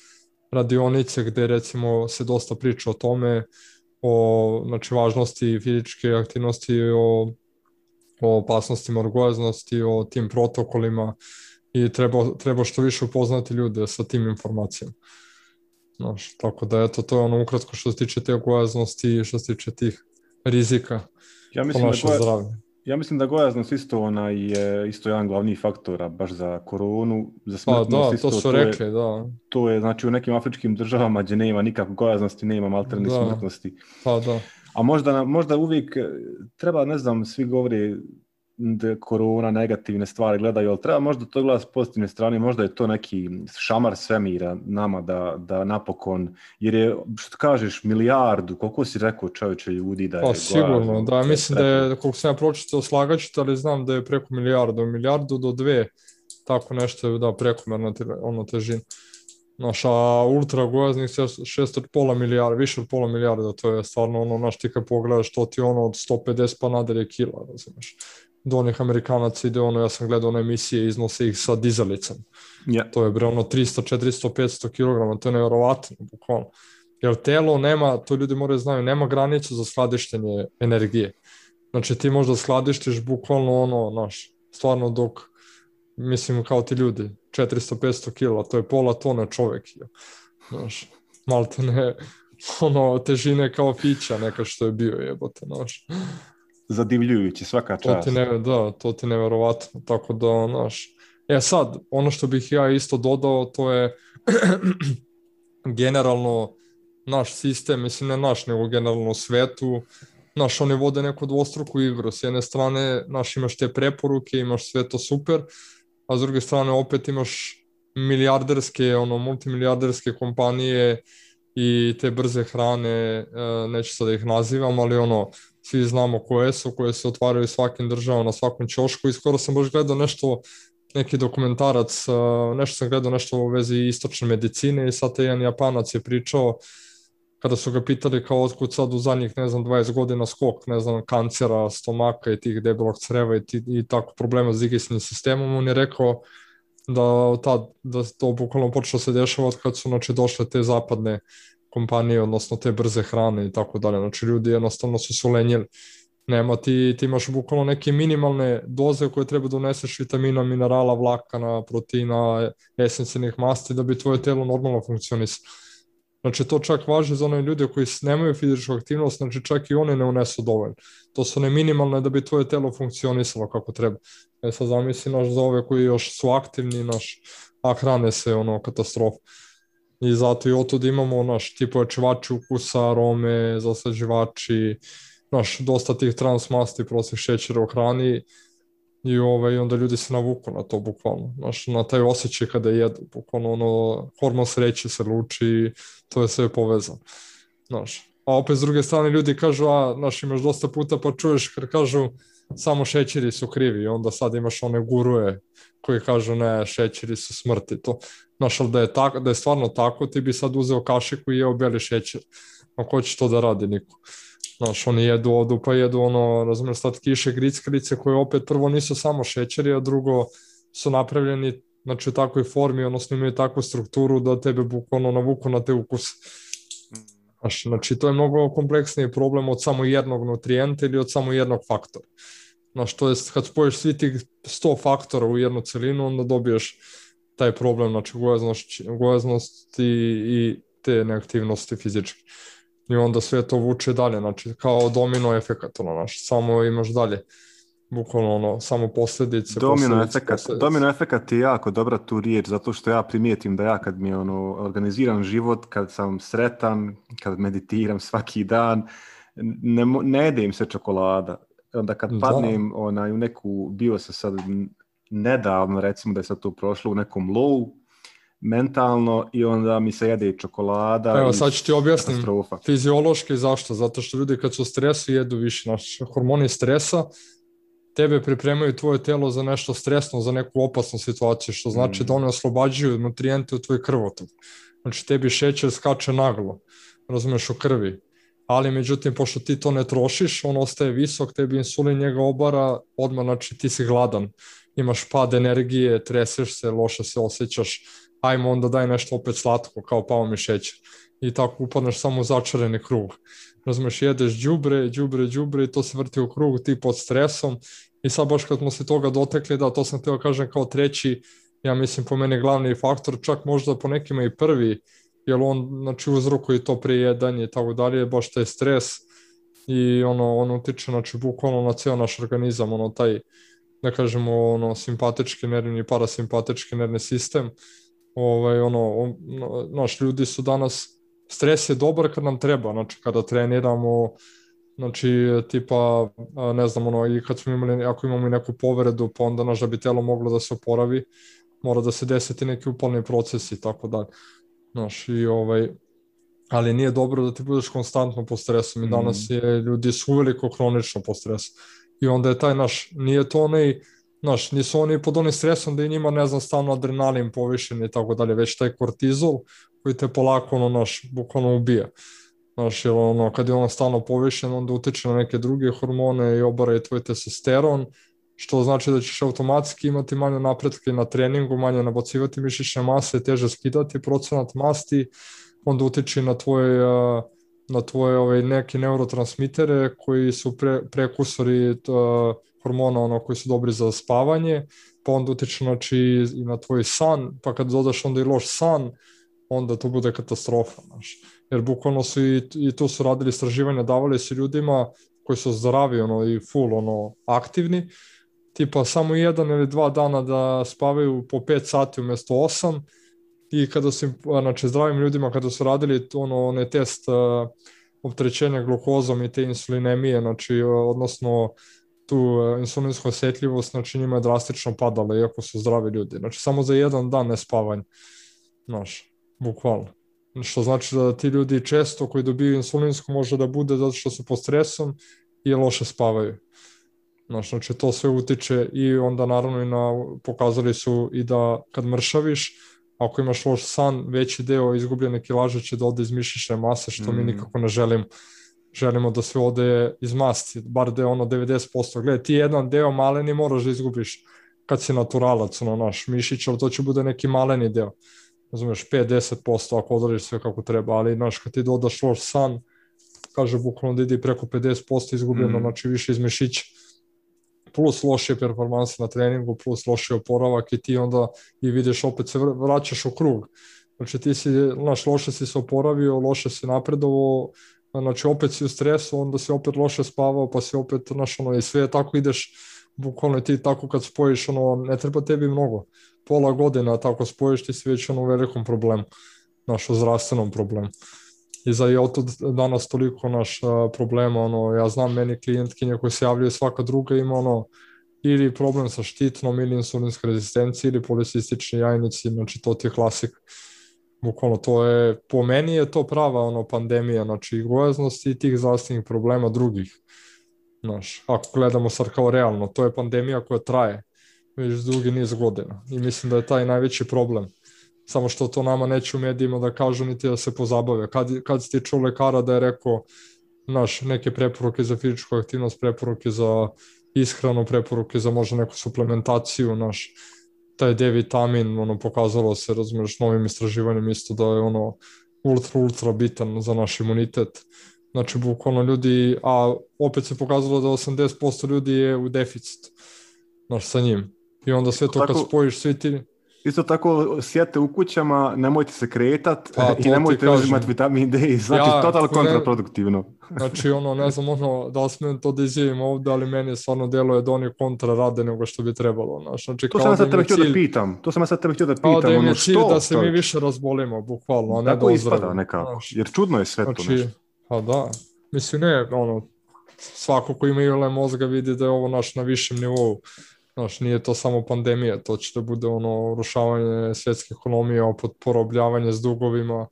radionice gde recimo se dosta priča o tome, o znači, važnosti fizičke aktivnosti, o opasnostima od gojaznosti, o tim protokolima i treba što više upoznati ljude sa tim informacijama. Znaš, tako da eto, to je ono ukratko što se tiče te gojaznosti i što se tiče tih rizika po naše zdravlje. Ja mislim da gojaznost isto je isto jedan glavni faktor baš za koronu, za smrtnost. Da, to su rekli, da. To je znači u nekim afričkim državama gdje nema nikakve gojaznosti, nema malterne smrtnosti. Pa da. A možda uvijek treba, ne znam, svi govori da korona negativne stvari gledaju, ali treba možda to gledati s pozitivne strane, možda je to neki šamar svemira nama da napokon, jer je, što kažeš, milijardu, koliko si rekao čovječe ljudi da je gojazno? Sigurno, da, mislim da je, koliko sam ja pročitao slagaću, ali znam da je preko milijardu do 2, tako nešto je, da, prekomerna težina. Naša ultra gojaznih 6,5 milijarda, više od pola milijarda, to je stvarno ono, naš ti kad pogledaš, to ti ono od 150 pa nadalje kila, razumiješ. Do onih Amerikanaca ide ono, ja sam gledao one emisije, iznose ih sa dizalicama. Yeah. To je bre ono 300, 400, 500 kg, to je nevjerovatno, bukvalno. Jer telo nema, to ljudi moraju znaju, nema granicu za skladištenje energije. Znači ti možda skladištiš bukvalno ono, naš, stvarno dok, mislim kao ti ljudi, 400-500 kg, to je pola tone čovjek. Znaš, maltene, ono, težine kao pića neka što je bio, jebote, znaš. Zadivljujući, svaka čast. To ti nevjerovatno, tako da, znaš. Sad, ono što bih ja isto dodao, to je generalno naš sistem, mislim ne naš, nego generalno u svetu, naš, oni vode neku dvostruku igru. S jedne strane, naš, imaš te preporuke, imaš sve to super, a s druge strane opet imaš milijarderske, multimilijarderske kompanije i te brze hrane, neću sad da ih nazivam, ali svi znamo koje se otvaraju svakim državom, na svakom ćošku i skoro sam baš gledao neki dokumentarac, nešto sam gledao nešto u vezi istočne medicine i sad jedan Japanac je pričao kada su ga pitali kao otkud sad u zadnjih, 20 godina skok, kancera, stomaka i tih debelog creva i tako problema s digestivnim sistemom, on je rekao da to bukvalno počelo se dešava od kad su došle te zapadne kompanije, odnosno te brze hrane i tako dalje. Znači ljudi jednostavno su se ulenjili. Nema, ti imaš bukvalno neke minimalne doze koje treba da uneseš vitamina, minerala, vlakana, proteina, esencijalnih masti da bi tvoje telo normalno funkcionisalo. Znači to čak važi za one ljude koji nemaju fizičku aktivnost, znači čak i one ne unesu dovoljno. To su one minimalne da bi tvoje telo funkcionisalo kako treba. Sad zamisli za ove koji još su aktivni, a hrane se katastrofa. I zato i otud imamo ti pojačivači ukusa, arome, zaslađivači, dosta tih transmasti, prostih šećera u hrani i onda ljudi se navuku na to bukvalno, na taj osjećaj kada jedu, bukvalno hormon sreće se luči, to je sve povezano. A opet s druge strane ljudi kažu, imaš dosta puta pa čuješ kad kažu samo šećeri su krivi i onda sad imaš one guruje koji kažu ne, šećeri su smrti. Ali da je stvarno tako, ti bi sad uzeo kašiku i jeo beli šećer. A ko će to da radi? Niko. Oni jedu odu, pa jedu razumiješ, slatkiše, grickalice koje opet prvo nisu samo šećeri, a drugo su napravljeni u takvoj formi, odnosno imaju takvu strukturu da tebe bukvalno navuku na te ukuse. Znači, to je mnogo kompleksniji problem od samo jednog nutrijenta ili od samo jednog faktora. To je, kad spojiš svi tih 100 faktora u jednu celinu, onda dobiješ taj problem, znači gojaznost i te neaktivnosti fizičke. I onda sve to vuče dalje, znači kao domino efekat, samo imaš dalje, bukvalno samo posljedice. Domino efekat je jako dobra tu riječ, zato što ja primijetim da ja kad mi je organiziran život, kad sam sretan, kad meditiram svaki dan, ne jedem se čokolada. Onda kad padnem u neku, bio se sad nedavno, recimo da je sad to prošlo u nekom low, mentalno, i onda mi se jede čokolada. Evo, sad ću ti objasnim fiziološki zašto. Zato što ljudi kad su u stresu jedu više. Hormoni stresa tebe pripremaju tvoje telo za nešto stresno, za neku opasnu situaciju, što znači da one oslobađaju nutrijente u tvoj krvotok. Znači tebi šećer skače naglo, razumeš, u krvi. Ali međutim, pošto ti to ne trošiš, on ostaje visok, tebi insulin njega obara, odmah, znači ti si gladan. Imaš pad energije, treseš se, loše se osjećaš, ajmo onda daj nešto opet slatko, kao pao mi šećer. I tako upadneš samo u začarani krug. Razumeš, jedeš đubre i to se vrti u krug, ti pod stresom. I sad baš kad smo se toga dotekli, da, to sam htio kažem kao treći, ja mislim po meni glavni faktor, čak možda po nekima i prvi, jer on, znači, uzrokuje to prijedanje i tako dalje, baš taj stres i on utiče, znači, bukvalno na cijel naš organizam, taj, da kažemo, simpatički nervni i parasimpatički nervni sistem. Naš ljudi su danas, stres je dobar kad nam treba, znači kada treniramo, znači tipa, ne znam, i kad smo imali, ako imamo i neku povredu, pa onda da bi telo moglo da se oporavi, mora da se desiti neki upalni proces i tako dalje. Ali nije dobro da ti budeš konstantno pod stresom i danas ljudi su uveliko kronično pod stresom. I onda je taj nije to nisu oni pod onim stresom da je njima, ne znam, stalno adrenalin povišen i tako dalje, već taj kortizol koji te polako, bukvalno ubija. Jer kad je stalno povišen, onda utiče na neke druge hormone i obara i tvoj testosteron, što znači da ćeš automatski imati manje napretke na treningu, manje nabacivati mišićne mase, teže skidati procenat masti, onda utiče na tvoje neke neurotransmitere koji su prekursori hormona koji su dobri za spavanje, pa onda utiče, znači, i na tvoj san, pa kad dodaš onda i loš san, onda to bude katastrofa. Jer bukvalno su i tu su radili istraživanja, davali su ljudima koji su zdravi i full aktivni, tipa samo 1 ili 2 dana da spavaju po 5 sati umjesto 8, i kada su, znači, zdravim ljudima kada su radili onaj test opterećenja glukozom i te insulinemije, znači, odnosno tu insulinsku osjetljivost, znači njima je drastično padala, iako su zdravi ljudi. Znači samo za jedan dan nespavanja, znaš, bukvalno. Što znači da ti ljudi često koji dobiju insulinsku može da bude zato što su pod stresom i loše spavaju. Znači to sve utiče i onda naravno pokazali su i da kad mršaviš, ako imaš loš san, veći deo izgubljene kilaže će da ode iz mišićne mase, što mi nikako ne želimo. Želimo da sve ode iz masti, bar da je 90%. Gledaj, ti jedan deo maleni moraš da izgubiš kad si naturalac, naš mišić, ali to će bude neki maleni deo. Razumeš, 5-10% ako odradiš sve kako treba, ali kad ti dodaš loš san, kaže bukvalno da ide preko 50% izgubljeno, znači više iz mišića. Plus lošije performanse na treningu, plus lošiji oporavak i ti onda i vidiš opet se vraćaš u krug. Znači ti si, loše si se oporavio, loše si napredovao, znači opet si u stresu, onda si opet loše spavao, pa si opet, i sve tako ideš, bukvalno ti tako kad spojiš, ne treba tebi mnogo. Pola godina tako spojiš, ti si već u velikom problemu, u zdravstvenom problemu. I za je to danas toliko problema, ja znam meni klijentkinje koji se javljaju, svaka druga ima ili problem sa štitnom, ili insulinska rezistencija, ili policistični jajnici, znači to ti je klasik. Bukvalno to je, po meni je to prava pandemija, znači i gojaznosti i tih zdravstvenih problema drugih. Ako gledamo sad kao realno, to je pandemija koja traje već dugi niz godina i mislim da je taj najveći problem. Samo što to nama neće u medijima da kažu niti da se pozabave. Kad si ti čuo lekara da je rekao neke preporuke za fizičku aktivnost, preporuke za ishranu, preporuke za možda neku suplementaciju, taj D-vitamin, pokazalo se, razumiješ, novim istraživanjem isto da je ultra bitan za naš imunitet. Znači, bukvalno ljudi, a opet se pokazalo da 80% ljudi je u deficitu, sa njim. I onda sve to kad spojiš svi ti... Isto tako sjete u kućama, nemojte se kretat i nemojte uzimati vitamin D, znači totalno kontraproduktivno. Znači ne znam da li smijem to da izjavim ovdje, ali meni stvarno deluje da oni kontra rade nego što bi trebalo. Znači, to sam ja sad tebe htio da pitam. Kao da im je cilj da se mi više razbolimo, bukvalno, a ne da ozdravimo. Tako ispada nekako, jer čudno je sve to nešto. Pa da, mislim ne, svako ko ima ile mozga vidi da je ovo na višem nivou. Nije to samo pandemija, to će da bude urušavanje svjetske ekonomije, opet porobljavanje s dugovima,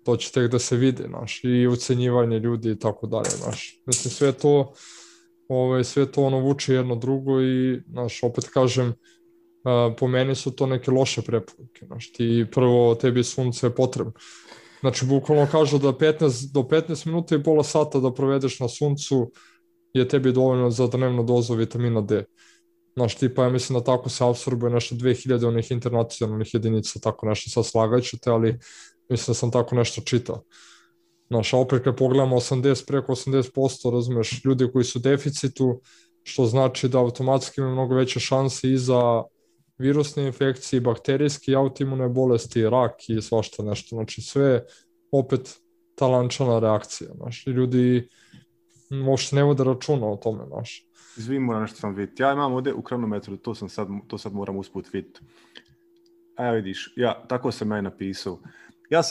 to će tek da se vidi, i ucenjivanje ljudi i tako dalje, Mislim, sve to vuče jedno drugo i, opet kažem, po meni su to neke loše preporuke, ti prvo, tebi sunce je potrebno. Znači, bukvalno kažu da do 15 minuta i pola sata da provedeš na suncu je tebi dovoljno za dnevnu dozu vitamina D. Tipa, ja mislim da tako se apsorbuje nešto 2000 onih internacionalnih jedinica, tako nešto, sad slagaću te, ali mislim da sam tako nešto čitao. A opet kad pogledamo preko 80%, razumeš, ljudi koji su u deficitu, što znači da automatski imaju mnogo veće šanse i za virusne infekcije, bakterijske i autoimune bolesti, rak i svašta nešto. Znači sve opet ta lančana reakcija. I ljudi uopšte ne vode računa o tome. Izvim, moram nešto sam vidjeti. Ja imam ovdje u kronometru, to sad moram usput vidjeti. Evo vidiš, tako sam ja napisao. Ja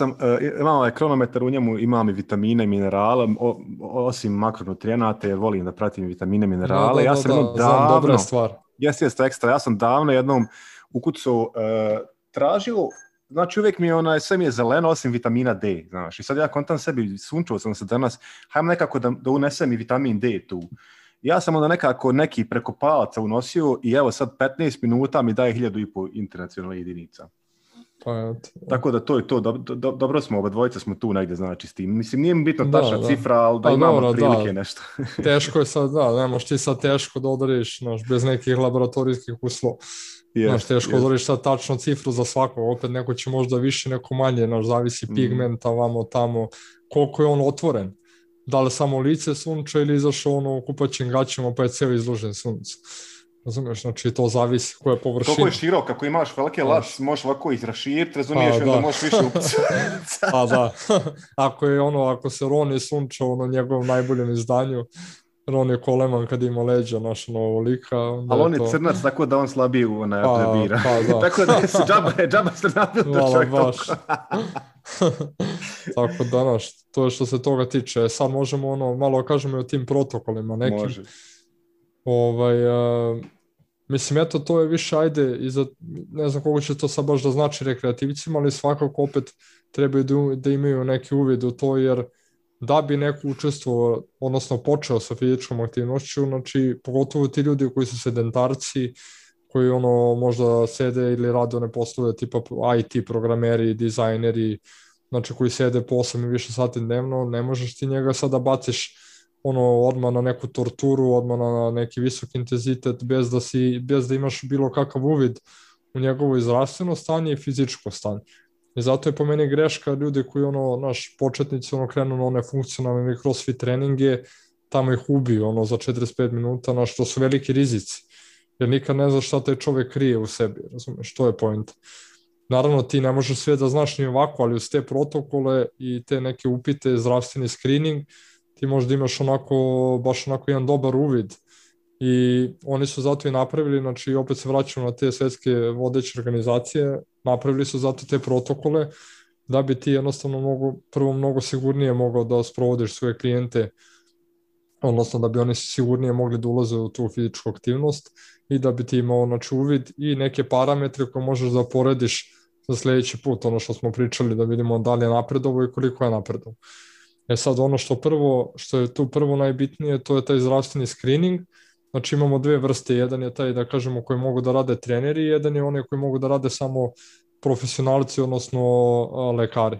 imam ovaj kronometar, u njemu imam i vitamine i minerale, osim makronutrijenata, jer volim da pratim vitamine i minerale. Ja sam davno, dobra stvar. Jeste ekstra. Ja sam davno jednom ukucao tražio, znači uvijek mi je sve mi je zeleno osim vitamina D, znaš. I sad ja kontam sebi, sunčao sam se danas, hajmo nekako da unesem i vitamin D tu. Ja sam onda nekako neki preko palaca unosio i evo sad 15 minuta mi daje 1500 internacionalnih jedinica. Tako da to je to, dobro smo, oba dvojica smo tu negdje, znači s tim. Mislim, nije mi bitno tačna cifra, ali da imamo prilike nešto. Teško je sad, ne možeš ti sad teško da odariš, bez nekih laboratorijskih uslova. Teško odariš sad tačnu cifru za svakog, opet neko će možda više, neko manje, zavisi pigmenta, vamo tamo, koliko je on otvoren. Da li samo lice sunča ili izašao u kupaćim gaćima pa je cijel izložen suncu. Razumiješ, znači to zavisi koja je površina. Koliko je širok, ako imaš velike lac, možeš ovako izraširiti, razumiješ, onda možeš više upcati. Pa da, ako se Roni sunča u njegovom najboljem izdanju, Ron Coleman kad ima leđa naša ovolika. Ali on je crnac, tako da on slabije plebira. Tako da je džaba se nabil to čovjek toliko. Tako da, to je što se toga tiče. Sad možemo malo kažemo i o tim protokolima nekim. Može. Mislim, eto, to je više, ajde, ne znam koliko će to sad baš da znači rekreativcima, ali svakako opet trebaju da imaju neki uvid u to, jer da bi neko učestvovao, odnosno počeo sa fizičkom aktivnošću, znači, pogotovo ti ljudi koji su sedentarci, koji možda sede ili rade one poslove tipa IT programeri, dizajneri, znači koji sede po 8 i više sati dnevno, ne možeš ti njega sada baciš odmah na neku torturu, odmah na neki visok intenzitet, bez da imaš bilo kakav uvid u njegovo zdravstveno stanje i fizičko stanje. I zato je po meni greška ljudi koji početnici krenu na one funkcionalne ili crossfit treninge, tamo ih ubiju za 45 minuta, to su veliki rizici. Jer nikad ne znaš šta taj čovek krije u sebi, razumeš, to je point. Naravno, ti ne možeš sve da znaš ni ovako, ali uz te protokole i te neke upite, zdravstveni screening, ti možda imaš baš jedan dobar uvid. I oni su zato i napravili, znači opet se vraćamo na te svetske vodeće organizacije, napravili su zato te protokole da bi ti jednostavno prvo mnogo sigurnije mogao da sprovodiš svoje klijente, odnosno da bi oni sigurnije mogli da ulaze u tu fizičku aktivnost i da bi ti imao uvid i neke parametre koje možeš da porediš za sledeći put, što smo pričali, da vidimo da li je napredovo i koliko je napredovo. Sad što je tu prvo najbitnije, to je taj zdravstveni screening. Znači imamo dve vrste, jedan je taj, da kažemo, koji mogu da rade treneri, jedan je onaj koji mogu da rade samo profesionalci, odnosno lekari,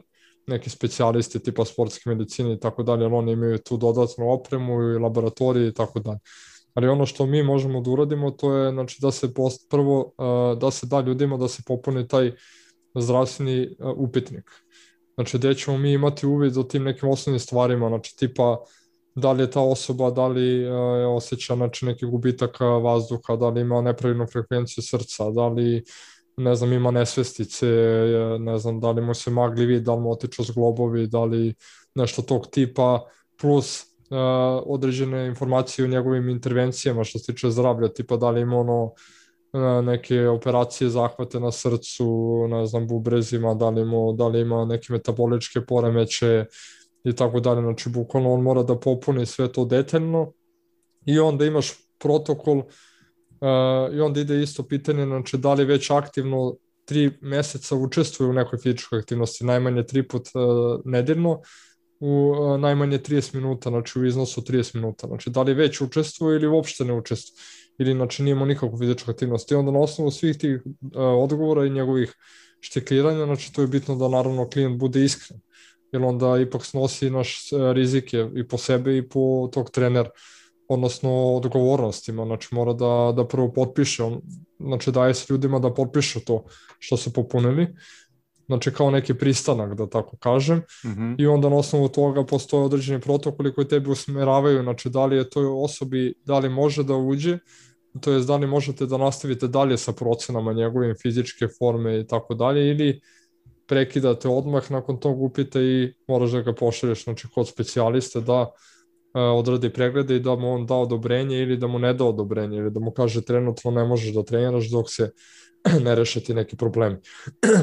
neki specijalisti tipa sportske medicine i tako dalje, ali oni imaju tu dodatnu opremu i laboratorije i tako dalje. Ali ono što mi možemo da uradimo, to je znači, da se prvo da se da ljudima da se popuni taj zdravstveni upitnik. Znači gde ćemo mi imati uvid o tim nekim osnovnim stvarima, znači tipa da li je ta osoba, da li osjeća neki gubitak vazduha, da li ima nepravilnu frekvenciju srca, da li ima nesvestice, ne znam, da li mu se magli vid, da li mu otiču zglobovi, da li nešto tog tipa, plus određene informacije o njegovim intervencijama što se tiče zdravlja, tipa da li ima neke operacije, zahvate na srcu, ne znam, bubrezima, da li ima neke metaboličke poremeće i tako dalje, znači bukvalno on mora da popuni sve to detaljno i onda imaš protokol i onda ide isto pitanje, znači da li već aktivno 3 meseca učestvuje u nekoj fizičkoj aktivnosti, najmanje 3 put nedeljno, u najmanje 30 minuta, znači u iznosu 30 minuta, znači da li već učestvuje ili uopšte ne učestvuje, ili znači nije imao nikakvu fizičku aktivnost. I onda na osnovu svih tih odgovora i njegovih štikliranja, znači to je bitno da naravno klijent bude iskren, jer onda ipak snosi naš rizike i po sebe i po tog trenera, odnosno odgovornostima, znači mora da prvo potpiše, znači daje se ljudima da potpišu to što su popunili, znači kao neki pristanak, da tako kažem, i onda na osnovu toga postoje određeni protokoli koji tebi usmeravaju, znači da li je toj osobi, da li može da uđe, to jest da li možete da nastavite dalje sa procenama njegove fizičke forme i tako dalje, ili prekidate odmah nakon tog upita i moraš da ga pošalješ, znači kod specijaliste da odradi preglede i da mu on da odobrenje ili da mu ne da odobrenje ili da mu kaže trenutno ne možeš da treniraš dok se ne reše ti neki problemi.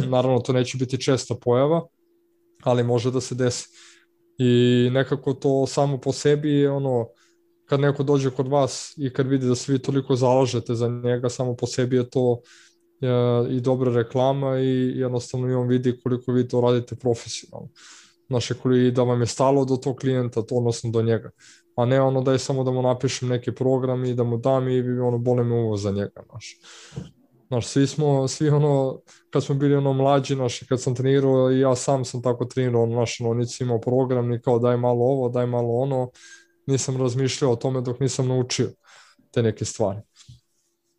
Naravno, to neće biti česta pojava, ali može da se desi. I nekako to samo po sebi je kad neko dođe kod vas i kad vidi da se vi toliko zalažete za njega, samo po sebi je to i dobra reklama i jednostavno i on vidi koliko vi to radite profesionalno. Znači, da vam je stalo do tog klijenta, odnosno do njega. A ne da je samo da mu napišem neki program i da mu dam i boli me uvo za njega. Znaš, svi kad smo bili mlađi, kad sam trenirao i ja sam tako trenirao, nisi imao program, ni kao daj malo ovo, daj malo ono, nisam razmišljao o tome dok nisam naučio te neke stvari.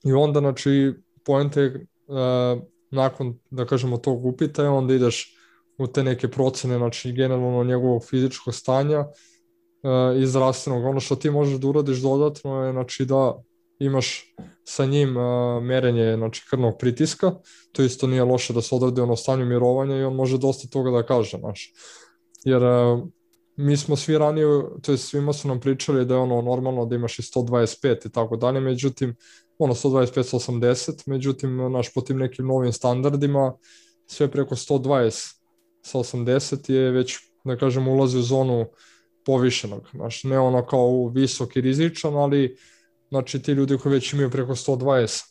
I onda, znači, poenta je, nakon, da kažemo, tog upita, onda ideš u te neke procene, znači, generalno njegovog fizičkog stanja i zdravstvenog. Ono što ti možeš da uradiš dodatno je, znači, da imaš sa njim merenje, znači, krvnog pritiska, to isto nije loše da se odradi stanju mirovanja i on može dosta toga da kaže, znaš. Jer mi smo svi ranije, to je svima su nam pričali da je normalno da imaš i 125 i tako dalje, međutim, 125-180, međutim, po tim nekim novim standardima, sve preko 120 sa 80 je već, da kažem, ulazi u zonu povišenog, znaš, ne kao visok i rizičan, ali znači ti ljudi koji već imaju preko 120,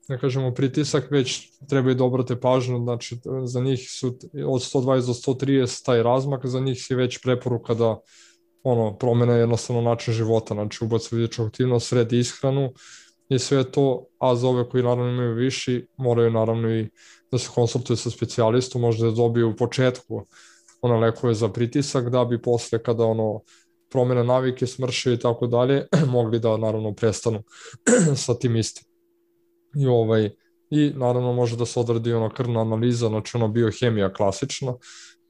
da kažemo, pritisak, već trebaju da obrate pažnju, znači za njih su od 120 do 130 taj razmak, za njih je već preporuka da promene jednostavno način života, znači ubacu fizičku aktivnost, sredi ishranu i sve to, a za ove koji naravno imaju viši, moraju naravno i da se konsultuju sa specijalistom, možda da dobiju u početku lekove za pritisak, da bi posle kada promene navike, smrše i tako dalje, mogli da naravno prestanu sa tim istim. I naravno može da se odradi krvna analiza, znači biohemija klasična,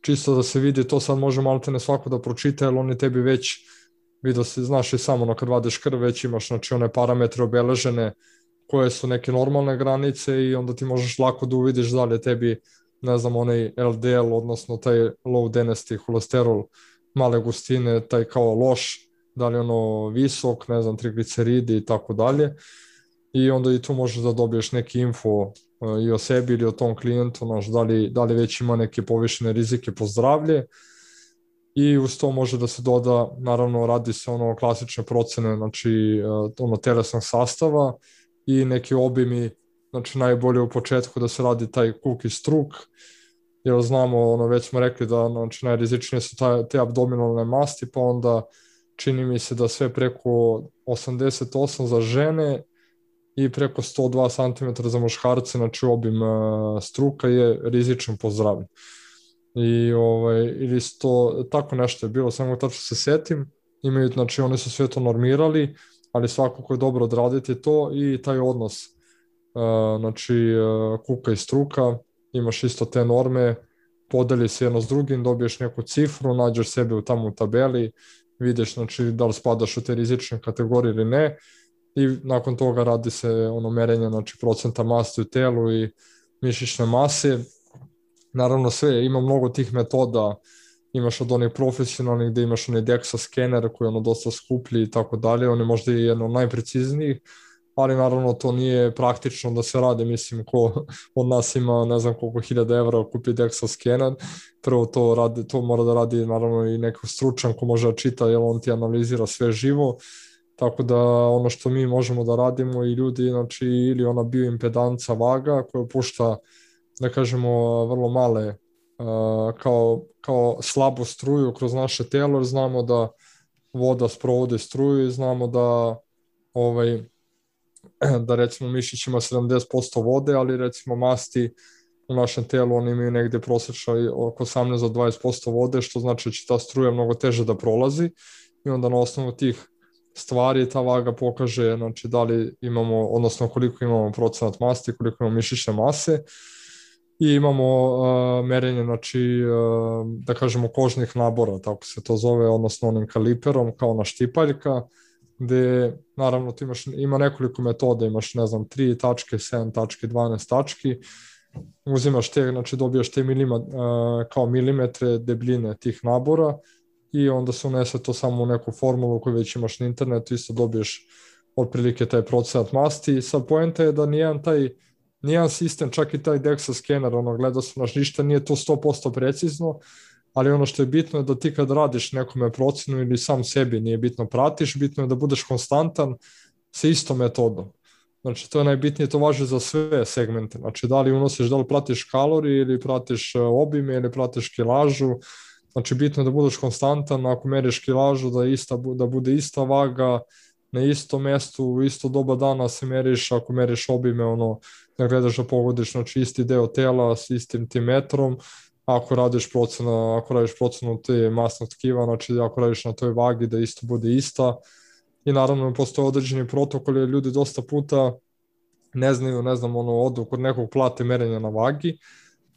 čisto da se vidi, to sad može malo te ne svako da pročita, jer oni tebi već, vidio si, znaš i samo kad vadiš krv, već imaš znači one parametre obeležene koje su neke normalne granice i onda ti možeš lako da uvidiš da li je tebi, ne znam, onaj LDL, odnosno taj low density holesterol male gustine, taj kao loš, da li visok, ne znam, trigliceridi i tako dalje. I onda i tu možeš da dobiješ neki info i o sebi ili o tom klijentu, da li već ima neke povišene rizike po zdravlje. I uz to može da se doda, naravno radi se klasične procene, znači telesnog sastava i neki obimi, znači najbolje u početku da se radi taj Cook i Struk, jer znamo, već smo rekli da znači, najrizičnije su te abdominalne masti, pa onda čini mi se da sve preko 88 za žene i preko 102 cm za muškarce, znači obim struka je rizičan po zdravlje. Ili to, tako nešto je bilo, samo tačno se setim, imaju, znači oni su sve to normirali, ali svakako je dobro odraditi to i taj odnos, znači kuka i struka, imaš isto te norme, podeli se jedno s drugim, dobiješ neku cifru, nađeš sebe tamo u tabeli, vidiš znači da li spadaš u te rizične kategorije ili ne, i nakon toga radi se merenje znači procenta masti u telu i mišićne mase. Naravno sve, ima mnogo tih metoda, imaš od onih profesionalnih gde imaš onaj DEXA skener koji je dosta skuplji i tako dalje, on je možda i jedno od najpreciznijih, ali naravno to nije praktično da se radi, mislim ko od nas ima ne znam koliko 1000 evra kupi DEXA skener, prvo to mora da radi naravno i neko stručan ko može da čita, jer on ti analizira sve živo, tako da ono što mi možemo da radimo i ljudi, znači ili ona bioimpedanca vaga koja pušta, da kažemo, vrlo male kao slabu struju kroz naše telo, jer znamo da voda sprovodi struju i znamo da recimo mišić ima 70% vode, ali recimo masti u našem telu oni imaju negde prosječno oko 18 do 20% vode, što znači da će ta struja mnogo teže da prolazi i onda na osnovu tih stvari ta vaga pokaže znači da li imamo, odnosno koliko imamo procenat masti, koliko imamo mišićne mase. I imamo merenje, znači, da kažemo, kožnih nabora, tako se to zove, odnosno onim kaliperom, kao ona štipaljka, gde, naravno, ima nekoliko metoda, imaš, ne znam, 3 tačke, 7 tačke, 12 tački, uzimaš te, znači, dobijaš te kao milimetre debljine tih nabora i onda se unese to samo u neku formulu koju već imaš na internetu, isto dobiješ otprilike taj procenat masti. Sad, poenta je da nijedan sistem, čak i taj DEXA skener, gledao sam, ništa nije to 100% precizno, ali ono što je bitno je da ti kad radiš nekome procenu ili sam sebi, nije bitno pratiš, bitno je da budeš konstantan sa istom metodom. Znači to je najbitnije, to važi za sve segmente, znači da li unosiš, da li pratiš kalorije ili pratiš obime ili pratiš kilažu, znači bitno je da budeš konstantan, ako meriš kilažu da bude ista vaga, na istom mestu, u isto doba dana se meriš, ako meriš obime, da gledaš da pogodiš, znači isti deo tela s istim tim metrom, ako radiš procenu te masnog tkiva, znači ako radiš na toj vagi da isto bude ista. I naravno postoje određeni protokoli, ljudi dosta puta ne znaju, odu kod nekog plate merenja na vagi,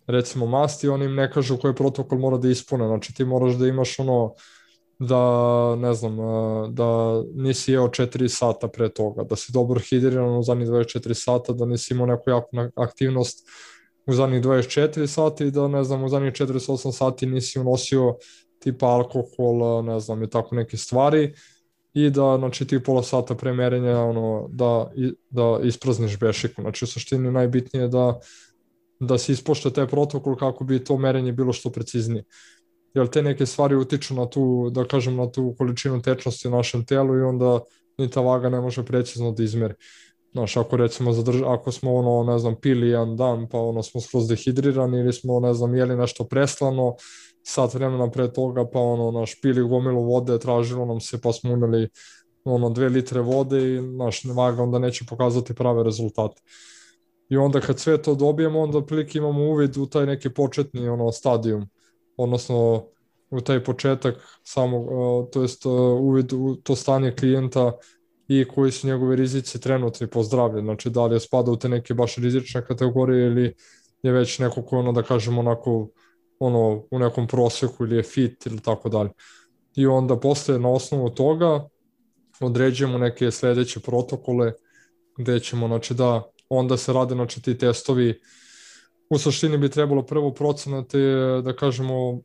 recimo masti, oni im ne kažu koji protokol mora da ispune, znači ti moraš da imaš da, ne znam, da nisi jeo 4 sata pre toga, da si dobro hidriran u zadnjih 24 sata, da nisi imao neku jaku aktivnost u zadnjih 24 sata i da, ne znam, u zadnjih 48 sati nisi unosio tipa alkohol, ne znam, i tako neke stvari i da, znači, ti pola sata pre merenja, da isprazniš bešiku. Znači, u suštini najbitnije je da se ispoštuje taj protokol kako bi to merenje bilo što preciznije. Jer te neke stvari utiču na tu, da kažem, na tu količinu tečnosti u našem telu i onda ni ta vaga ne može precizno da izmeri. Znaš, ako recimo ako smo ne znam, pili jedan dan, pa smo skroz dehidrirani ili smo, ne znam, jeli nešto preslano, sat vremena pre toga, pa pili gomilu vode, tražilo nam se, pa smo uneli 2 litre vode i vaga onda neće pokazati prave rezultate. I onda kad sve to dobijemo, onda otprilike imamo uvid u taj neki početni stadijum, odnosno u taj početak samog, to jest uvid u to stanje klijenta i koji su njegovi rizici trenutni po zdravlje, znači da li je spada u te neke baš rizične kategorije ili je već neko koji da kažemo onako u nekom prosjeku ili je fit ili tako dalje. I onda posle na osnovu toga određujemo neke sledeće protokole gde ćemo, znači da onda se rade, znači ti testovi. U suštini bi trebalo prvo procenati, da kažemo,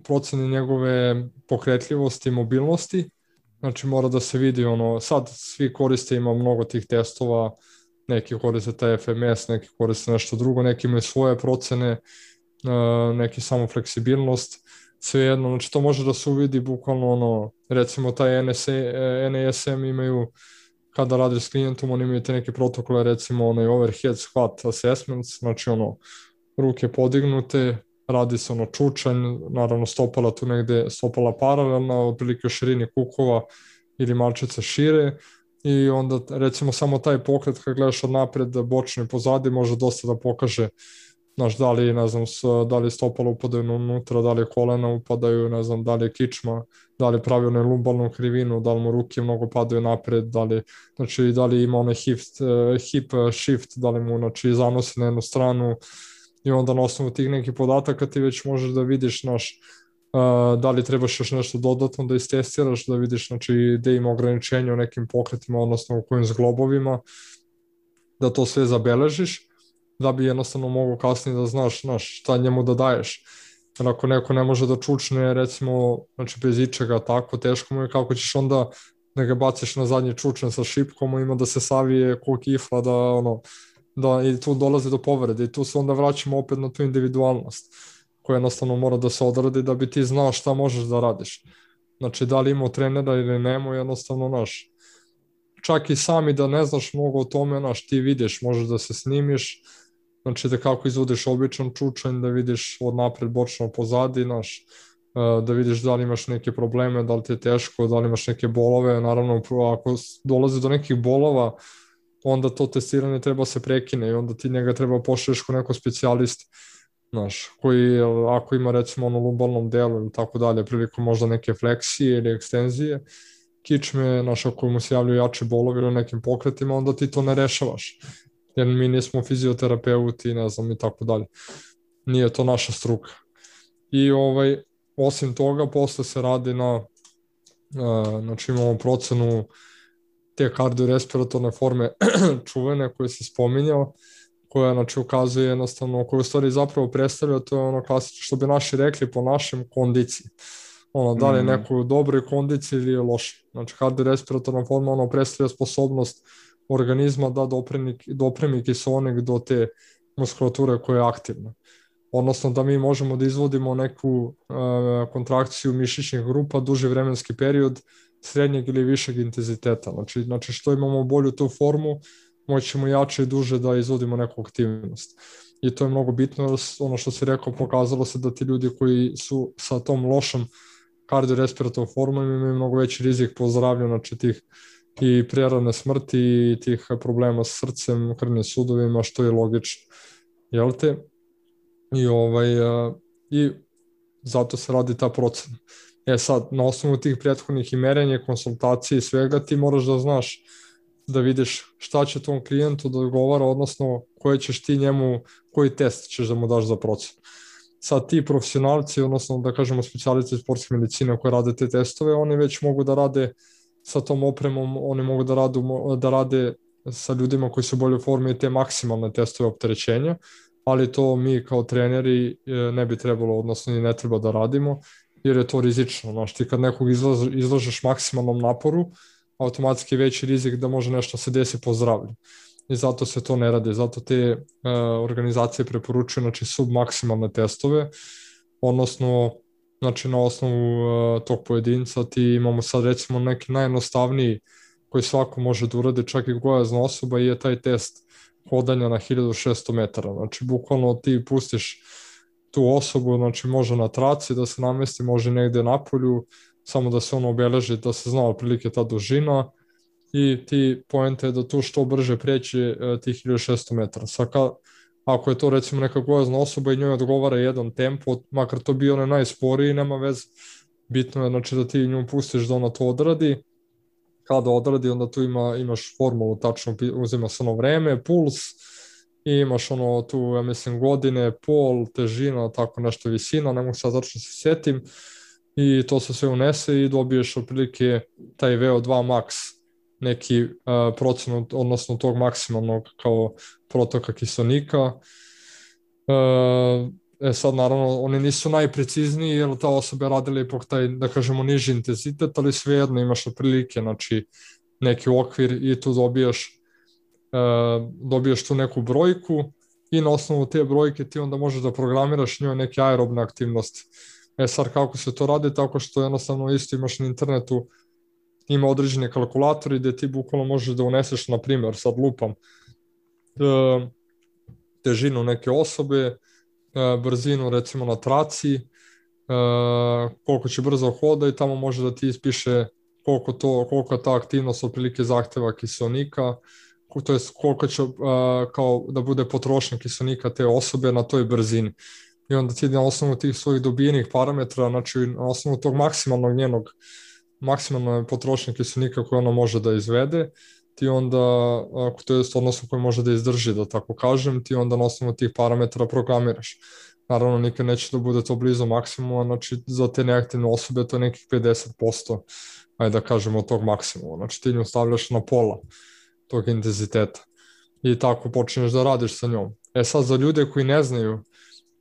proceni njegove pokretljivosti i mobilnosti. Znači mora da se vidi sad svi koriste, ima mnogo tih testova, neki koriste taj FMS, neki koriste nešto drugo, neki imaju svoje procene, neki samo fleksibilnost, svejedno, znači to može da se uvidi bukvalno recimo taj NASM imaju, kada radiš s klijentom, oni imaju te neke protokole, recimo overhead squat assessments, znači ruke podignute, radi se čučanj, naravno stopala tu negde, stopala paralelna, otprilike u širini kukova ili malčice šire i onda recimo samo taj pokret kad gledaš od napred, bočno i pozadi može dosta da pokaže, znaš, da li, ne znam, da li stopala upadaju unutra, da li kolena upadaju, ne znam, da li je kičma, da li pravi lumbalnu krivinu, da li mu ruke mnogo padaju napred, znači da li ima onaj hip shift, da li mu, znači, zanosi na jednu stranu i onda na osnovu tih nekih podataka ti već možeš da vidiš, da li trebaš još nešto dodatno da istestiraš, da vidiš, znači, gde ima ograničenja u nekim pokretima, odnosno u kojim zglobovima, da to sve zabeležiš, da bi jednostavno mogo kasnije da znaš šta njemu da daješ. Jer ako neko ne može da čučne, recimo, znači bez ičega tako, teško mu je, kako ćeš onda da ga baciš na zadnji čučan sa šipkom, ima da se savije ko kifla, da i tu dolazi do povrede i tu se onda vraćamo opet na tu individualnost koja jednostavno mora da se odradi da bi ti znao šta možeš da radiš. Znači da li imao trenera ili nemo, jednostavno čak i sami da ne znaš mnogo o tome, ti vidiš, možeš da se snimiš, znači da kako izvodiš običan čučanj, da vidiš od napred, bočno, pozadi, da vidiš da li imaš neke probleme, da li ti je teško, da li imaš neke bolove, naravno ako dolazi do nekih bolova, onda to testiranje treba se prekine i onda ti njega treba pošalješ kod nekog specijalista, koji ako ima recimo lumbalnom delu ili tako dalje, prilikom možda neke fleksije ili ekstenzije, kičme, ako mu se javljaju jači bolovi ili nekim pokretima, onda ti to ne rešavaš, jer mi nismo fizioterapeuti, ne znam, i tako dalje. Nije to naša struka. I osim toga, posle se radi znači imamo procenu te kardiorespiratorne forme čuvene koje se spominjao, koja, znači, ukazuje jednostavno, koja u stvari zapravo predstavlja, to je klasično, što bi naši rekli, po našem kondiciji. Da li je neko u dobroj kondiciji ili je loše. Znači, kardiorespiratorna forma, predstavlja sposobnost organizma da dopremi kiseonik do te muskulature koja je aktivna. Odnosno da mi možemo da izvodimo neku kontrakciju mišićnih grupa duži vremenski period srednjeg ili višeg intenziteta. Znači što imamo bolju tu formu, moćemo jače i duže da izvodimo neku aktivnost. I to je mnogo bitno, ono što si rekao, pokazalo se da ti ljudi koji su sa tom lošom kardiorespiratornom formom imaju mnogo veći rizik po zdravlju, znači tih i prerane smrti i tih problema s srcem, krvnim sudovima, što je logično. Jel te? I zato se radi ta procena. Sad, na osnovu tih prethodnih i merenja, konsultacije i svega, ti moraš da znaš, da vidiš šta će tom klijentu da odgovara, odnosno koji ćeš ti njemu, koji test ćeš da mu daš za procenu. Sad ti profesionalci, odnosno da kažemo specijalisti sportske medicine koji rade te testove, oni već mogu da rade sa tom opremom, oni mogu da rade sa ljudima koji su u boljoj formi i te maksimalne testove opterećenja, ali to mi kao treneri ne bi trebalo, odnosno i ne treba da radimo, jer je to rizično. Znaš, ti kad nekog izlažeš maksimalnom naporu, automatski je veći rizik da može nešto se desi po zdravlju. I zato se to ne radi. Zato te organizacije preporučuju, znači, submaksimalne testove, odnosno znači na osnovu tog pojedinca ti imamo sad recimo neki najjednostavniji koji svako može da uradi, čak i gojazna osoba, i je taj test hodanja na 1600 metara. Znači, bukvalno ti pustiš tu osobu, znači može na traci da se namesti, može negde na polju, samo da se ono obeleži, da se zna otprilike ta dužina, i ti poenta je da tu što brže preći tih 1600 metara. Ako je to recimo neka gojazna osoba i njoj odgovara jedan tempo, makar to bio onaj najsporiji, nema veze. Bitno je znači da ti nju pustiš da ona to odradi. Kada odradi, onda tu imaš formulu, tačno uzima se ono vreme, puls, i imaš ono tu, ja mislim, godine, pol, težina, tako nešto, visina, ne mogu sad tačno se sjetim, i to se sve unese i dobiješ otprilike taj VO2 max, neki procenat, odnosno tog maksimalnog kao protoka kiselnika. Sad naravno oni nisu najprecizniji jer ta osoba je radila ipak taj, da kažemo, niži intenzitet, ali svejedno imaš otprilike, znači, neki okvir i tu dobiješ tu neku brojku i na osnovu te brojke ti onda možeš da programiraš njoj neke aerobne aktivnosti. Sad kako se to radi? Tako što jednostavno isto imaš na internetu, ima određeni kalkulatori gde ti bukvalno možeš da uneseš, na primjer, sad lupam, težinu neke osobe, brzinu recimo na traci, koliko će brzo hoda, i tamo može da ti ispiše koliko ta aktivnost otprilike zahteva kiselnika, to je koliko će kao da bude potrošnja kiselnika te osobe na toj brzini. I onda ti na osnovu tih svojih dobijenih parametra, znači na osnovu tog maksimalne potrošnje kiselnika koje ona može da izvede, ti onda, to je odnosno koje može da izdrži, da tako kažem, ti onda na osnovu tih parametara programiraš. Naravno, nikad neće da bude to blizu maksimuma, znači za te neaktivne osobe to je nekih 50%, ajde da kažemo, od tog maksimuma. Znači ti nju stavljaš na pola tog intenziteta i tako počneš da radiš sa njom. Sad za ljude koji ne znaju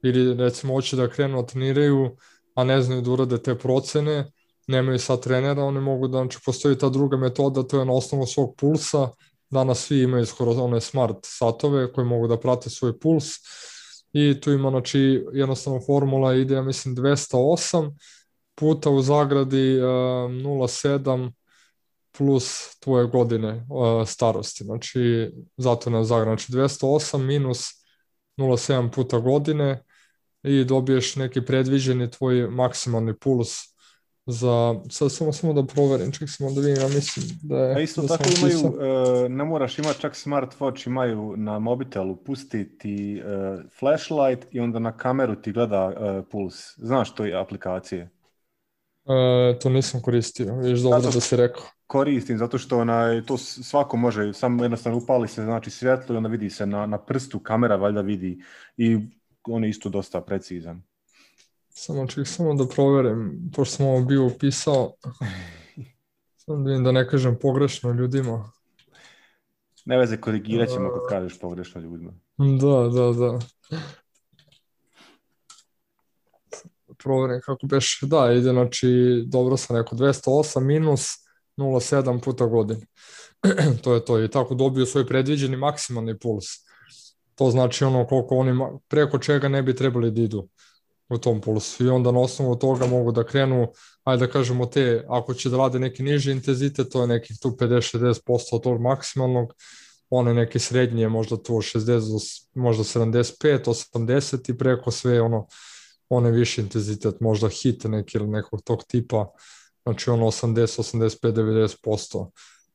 ili recimo hoće da krenu da treniraju, a ne znaju da urade te procene, nemaju sad trenera, oni mogu da, znači postoji ta druga metoda, to je na osnovu svog pulsa. Danas svi imaju skoro one smart satove koji mogu da prate svoj puls, i tu ima, znači, jednostavno formula ide, ja mislim, 208 puta u zagradi 0,7 plus tvoje godine starosti, znači zato na zagradi, znači 208 minus 0,7 puta godine i dobiješ neki predviđeni tvoj maksimalni puls sad samo da proverim, ček samo da vidim, ja mislim da je... A isto tako imaju, ne moraš imati čak smartwatch, imaju na mobitelu, pusti ti flashlight i onda na kameru ti gleda puls. Znaš to je aplikacije? To nisam koristio, viš dobro da si rekao. Koristim, zato što to svako može, samo jednostavno upali se, znači, svjetlo i onda vidi se na prstu, kamera valjda vidi, i on je isto dosta precizan. Samo da proverim, pošto sam ovo bio upisao, samo da vidim da ne kažem pogrešno ljudima. Ne veze, korigirat ćemo ako kažeš pogrešno ljudima. Da. Proverim kako beš, da, ide, znači, dobro sam rekao, 208 minus 0,7 puta godine. To je to, i tako dobiju svoj predviđeni maksimalni puls. To znači ono koliko oni, preko čega ne bi trebali da idu u tom pulsu, i onda na osnovu toga mogu da krenu, ajde da kažemo, ako će da rade neki niži intenzitet, to je nekih tu 50-60% od tog maksimalnog, one neke srednje, možda tu 60, možda 75, 80, i preko sve one viši intenzitet, možda hit neki ili nekog tog tipa, znači 80, 85,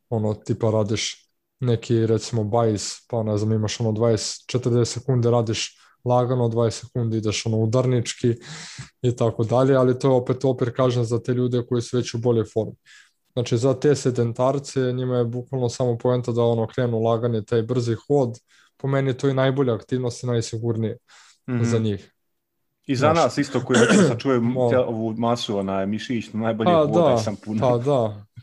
90%, tipa radiš neki recimo bajs, pa ne znam, imaš 20-40 sekunde radiš lagano, 20 sekundi ideš udarnički i tako dalje, ali to je opet kažem za te ljude koji su već u boljoj formi. Znači za te sedentarce njima je bukvalno samo poenta da krenu laganje, taj brzi hod, po meni to je najbolja aktivnost i najsigurnije za njih. I za nas isto koji sad čuje ovu masu mišićnu, najbolje hodaj sam puno.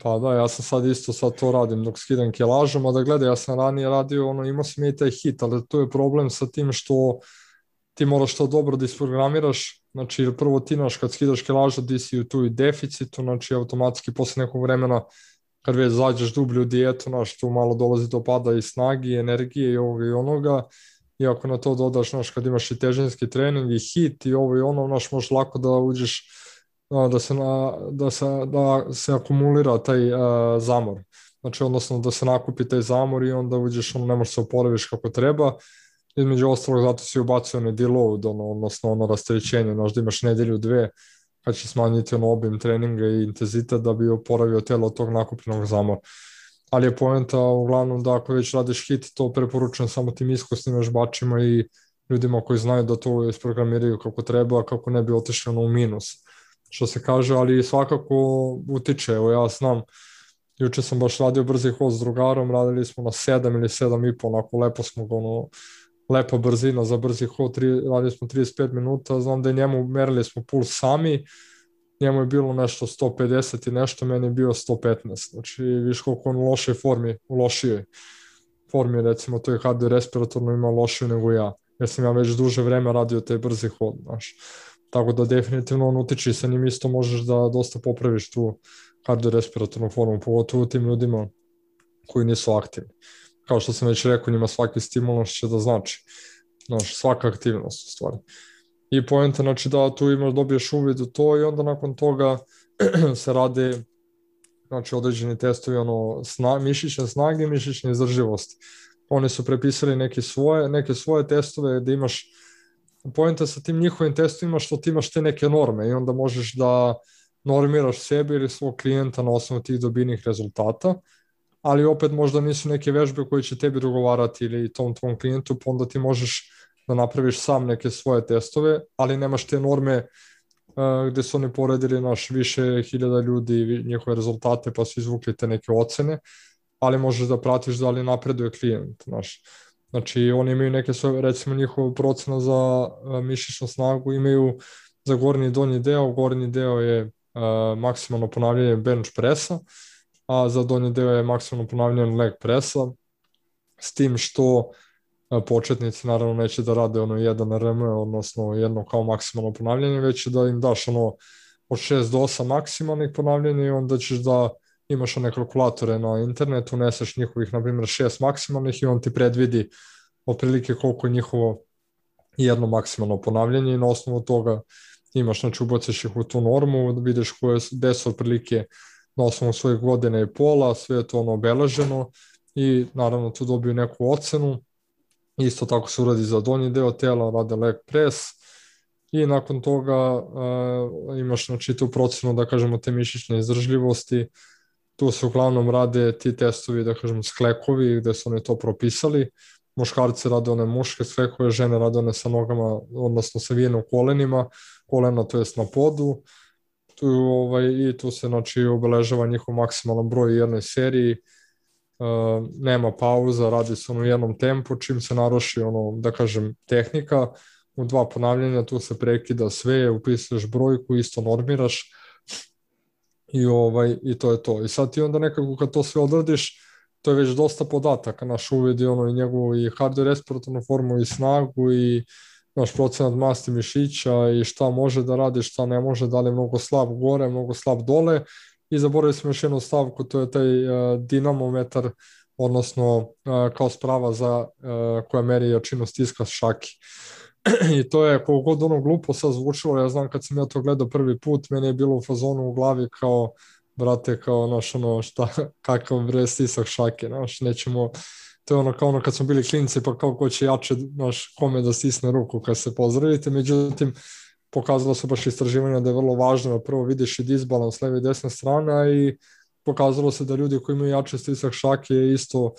Pa da, ja sam sad to radim dok skidam kilažom, a da gledaj, ja sam ranije radio, imao sam i taj hit, ali to je problem sa tim što ti moraš to dobro da isprogramiraš, znači prvo ti kad skidaš kilažu ti si u tu deficitu, znači automatski posle nekog vremena kad već zađeš dublju dijetu, tu malo dolazi do pada i snagi, i energije i ovoga i onoga, i ako na to dodaš, kad imaš i težinski trening i hit i ovo i ono, možeš lako da uđeš da se akumulira taj zamor. Znači, odnosno da se nakupi taj zamor i onda uđeš, ne možeš se oporaviš kako treba. Između ostalog, zato si ubacio onaj deload, odnosno ono rasterećenje, znaš da imaš nedelju, dve, kad će smanjiti obim treninga i intenzitet da bi oporavio telo od tog nakupljenog zamora. Ali je poenta uglavnom da ako već radiš hit, to preporučujem samo tim iskusnim vežbačima i ljudima koji znaju da to isprogramiraju kako treba, kako ne bi otišli u minus, što se kaže, ali svakako utiče. Evo ja znam, juče sam baš radio brzi hod s drugarom, radili smo na 7 ili 7,5, onako lepo smo lepa brzina za brzi hod, radili smo 35 minuta, znam da je njemu, merili smo puls sami, njemu je bilo nešto 150 i nešto, meni je bio 115, znači viš koliko on u lošoj formi, u lošijoj formi, recimo to je kardiorespiratorno ima lošiju nego ja, jer sam ja već duže vreme radio taj brzi hod, znaš. Tako da definitivno on utiče, sa njim isto možeš da dosta popraviš tu kardiorespiratornu formu, pogotovo tim ljudima koji nisu aktivni. Kao što sam već rekao, njima svaki stimulans će da znači, znaš, svaka aktivnost u stvari. I poenta, znači da tu dobiješ uvid u to i onda nakon toga se rade, znači, određeni testovi, mišićne snage i mišićne izdržljivosti. Oni su prepisali neke svoje testove da imaš, poenta sa tim njihovim testovima što ti imaš te neke norme i onda možeš da normiraš sebe ili svog klijenta na osnovu tih dobijenih rezultata, ali opet možda nisu neke vežbe koje će tebi dogovarati ili tom tvom klijentu, pa onda ti možeš da napraviš sam neke svoje testove, ali nemaš te norme gde su oni poredili više hiljada ljudi i njihove rezultate pa su izvukli te neke ocene, ali možeš da pratiš da li napreduje klijent. Znači oni imaju neke svoje, recimo njihovu procenu za mišićnu snagu imaju za gornji i donji deo je maksimalno ponavljanje bench pressa, a za donji deo je maksimalno ponavljanje leg pressa, s tim što početnici naravno neće da rade jedan RM, odnosno jedno kao maksimalno ponavljanje, već da im daš od 6 do 8 maksimalnih ponavljanja i onda ćeš da imaš one kalkulatore na internetu, uneseš njihovih, na primjer, 6 maksimalnih i on ti predvidi otprilike koliko je njihovo jedno maksimalno ponavljanje i na osnovu toga imaš, znači ubaciš ih u tu normu, da vidiš gde su otprilike na osnovu svojih godina i pola, sve je to obeleženo i naravno tu dobiju neku ocenu. Isto tako se uradi za donji deo tela, rade leg press i nakon toga imaš, znači, tu procenu, da kažemo, te mišićne izdržljivosti. Tu se uglavnom rade ti testovi, da kažemo, sklekovi, gde su oni to propisali. Muškarci rade one muške sklekove, žene rade one sa nogama, odnosno sa vijenom kolenima, kolena to jest na podu. I tu se, znači, obeležava njihov maksimalan broj u jednoj seriji. Nema pauza, radi se u jednom tempu, čim se naruši da kažem tehnika, u 2 ponavljanja tu se prekida sve, upisuješ brojku, isto normiraš i to je to. I sad ti onda nekako kad to sve odradiš, to je već dosta podataka, naš uvidi i njegovu i kardiorespiratornu formu i snagu i naš procenat masti mišića i šta može da radi, šta ne može, da li je mnogo slab gore, mnogo slab dole. I zaboravili smo još jednu stavku, to je taj dinamometar, odnosno kao sprava koja meri jačinu stiska šaki. I to je, koliko god glupo sad zvučilo, ja znam kad sam ja to gledao prvi put, meni je bilo u fazonu u glavi kao, brate, kao kakav stisak šake, nećemo, to je kao kad smo bili klinci, pa kao ko će jače, kome da stisne ruku kad se pozdravite, međutim, pokazalo se baš istraživanja da je vrlo važno da prvo vidiš i disbalans leve i desne strane i pokazalo se da ljudi koji imaju jači stisak šake isto,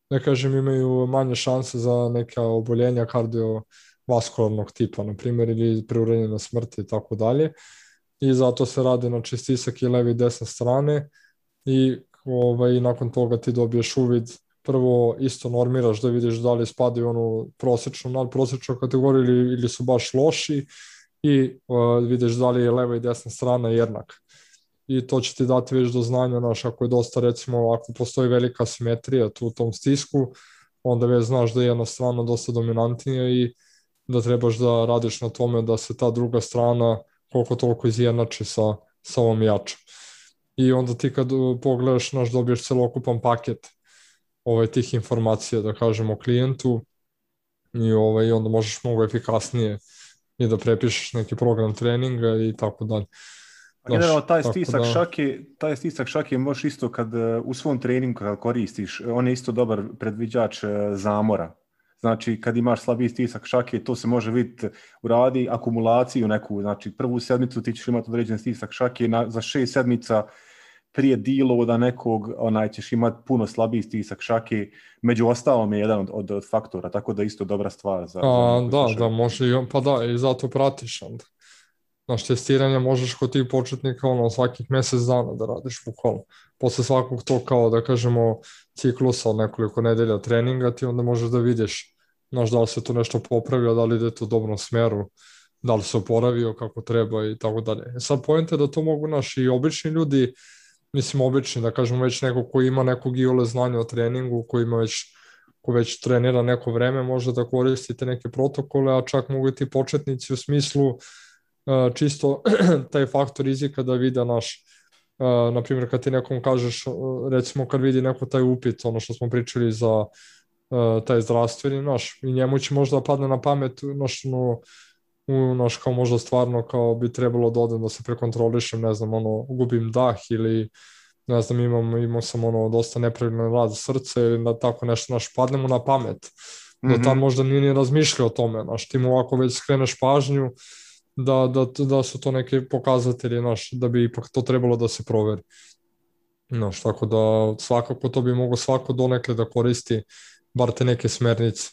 da kažem, imaju manje šanse za neka oboljenja kardiovaskularnog tipa, na primjer, ili preuranjenja na smrti i tako dalje. I zato se rade, znači, stisak i leve i desne strane i nakon toga ti dobiješ uvid, prvo isto normiraš da vidiš da li spadaju onu prosečnu, nadprosečnu kategoriju ili su baš loši i vidiš da li je leva i desna strana jednaka. I to će ti dati već do znanja, ako je dosta, recimo, ako postoji velika simetrija tu u tom stisku, onda već znaš da je jedna strana dosta dominantnija i da trebaš da radiš na tome da se ta druga strana koliko toliko izjednači sa ovom jačom. I onda ti kad pogledaš, dobiješ celokupan paket tih informacija, da kažem, o klijentu i onda možeš mnogo efikasnije i da prepišeš neki program treninga i tako dalje. A generalno Znaš, taj stisak šake možeš isto kad u svom treningu kad koristiš, on je isto dobar predviđač zamora. Znači kad imaš slabiji stisak šake, to se može vidjeti u radi akumulaciju neku, znači prvu sedmicu ti ćeš imati određen stisak šake, za 6 sedmica prije deloada nekog ćeš imati puno slabiji stisak šake, među ostalom je jedan od faktora, tako da isto dobra stvar za one koji slušaju. Da, može i pa da, i zato pratiš onda. Znaš, testiranje možeš kod tih početnika svakih mjesec dana da radiš bukvalno. Posle svakog to kao da kažemo ciklusa od nekoliko nedelja treninga ti onda možeš da vidiš da li se to nešto popravio, da li ide to u dobrom smeru, da li se oporavio kako treba i tako dalje. Sad point je da to mogu naši obični ljudi, mislim obični, da kažemo već neko koji ima nekog iole znanja o treningu, ko već trenira neko vreme, može da koristite neke protokole, a čak mogu i ti početnici u smislu čisto taj faktor rizika da vide na primjer kad ti nekom kažeš, recimo kad vidi neko taj upit, ono što smo pričali za taj zdravstveni i njemu će možda padne na pamet kao možda stvarno kao bi trebalo da odem da se prekontrolišem, ne znam, gubim dah ili ne znam, imao sam dosta nepravilan rad srca ili da tako nešto, padne mu na pamet. Da tam možda nije ni razmišljao o tome, ti mu ovako već skreneš pažnju da su to neke pokazatelji, da bi ipak to trebalo da se proveri. Tako da svakako to bi mogo svako donekle da koristi bar te neke smernice.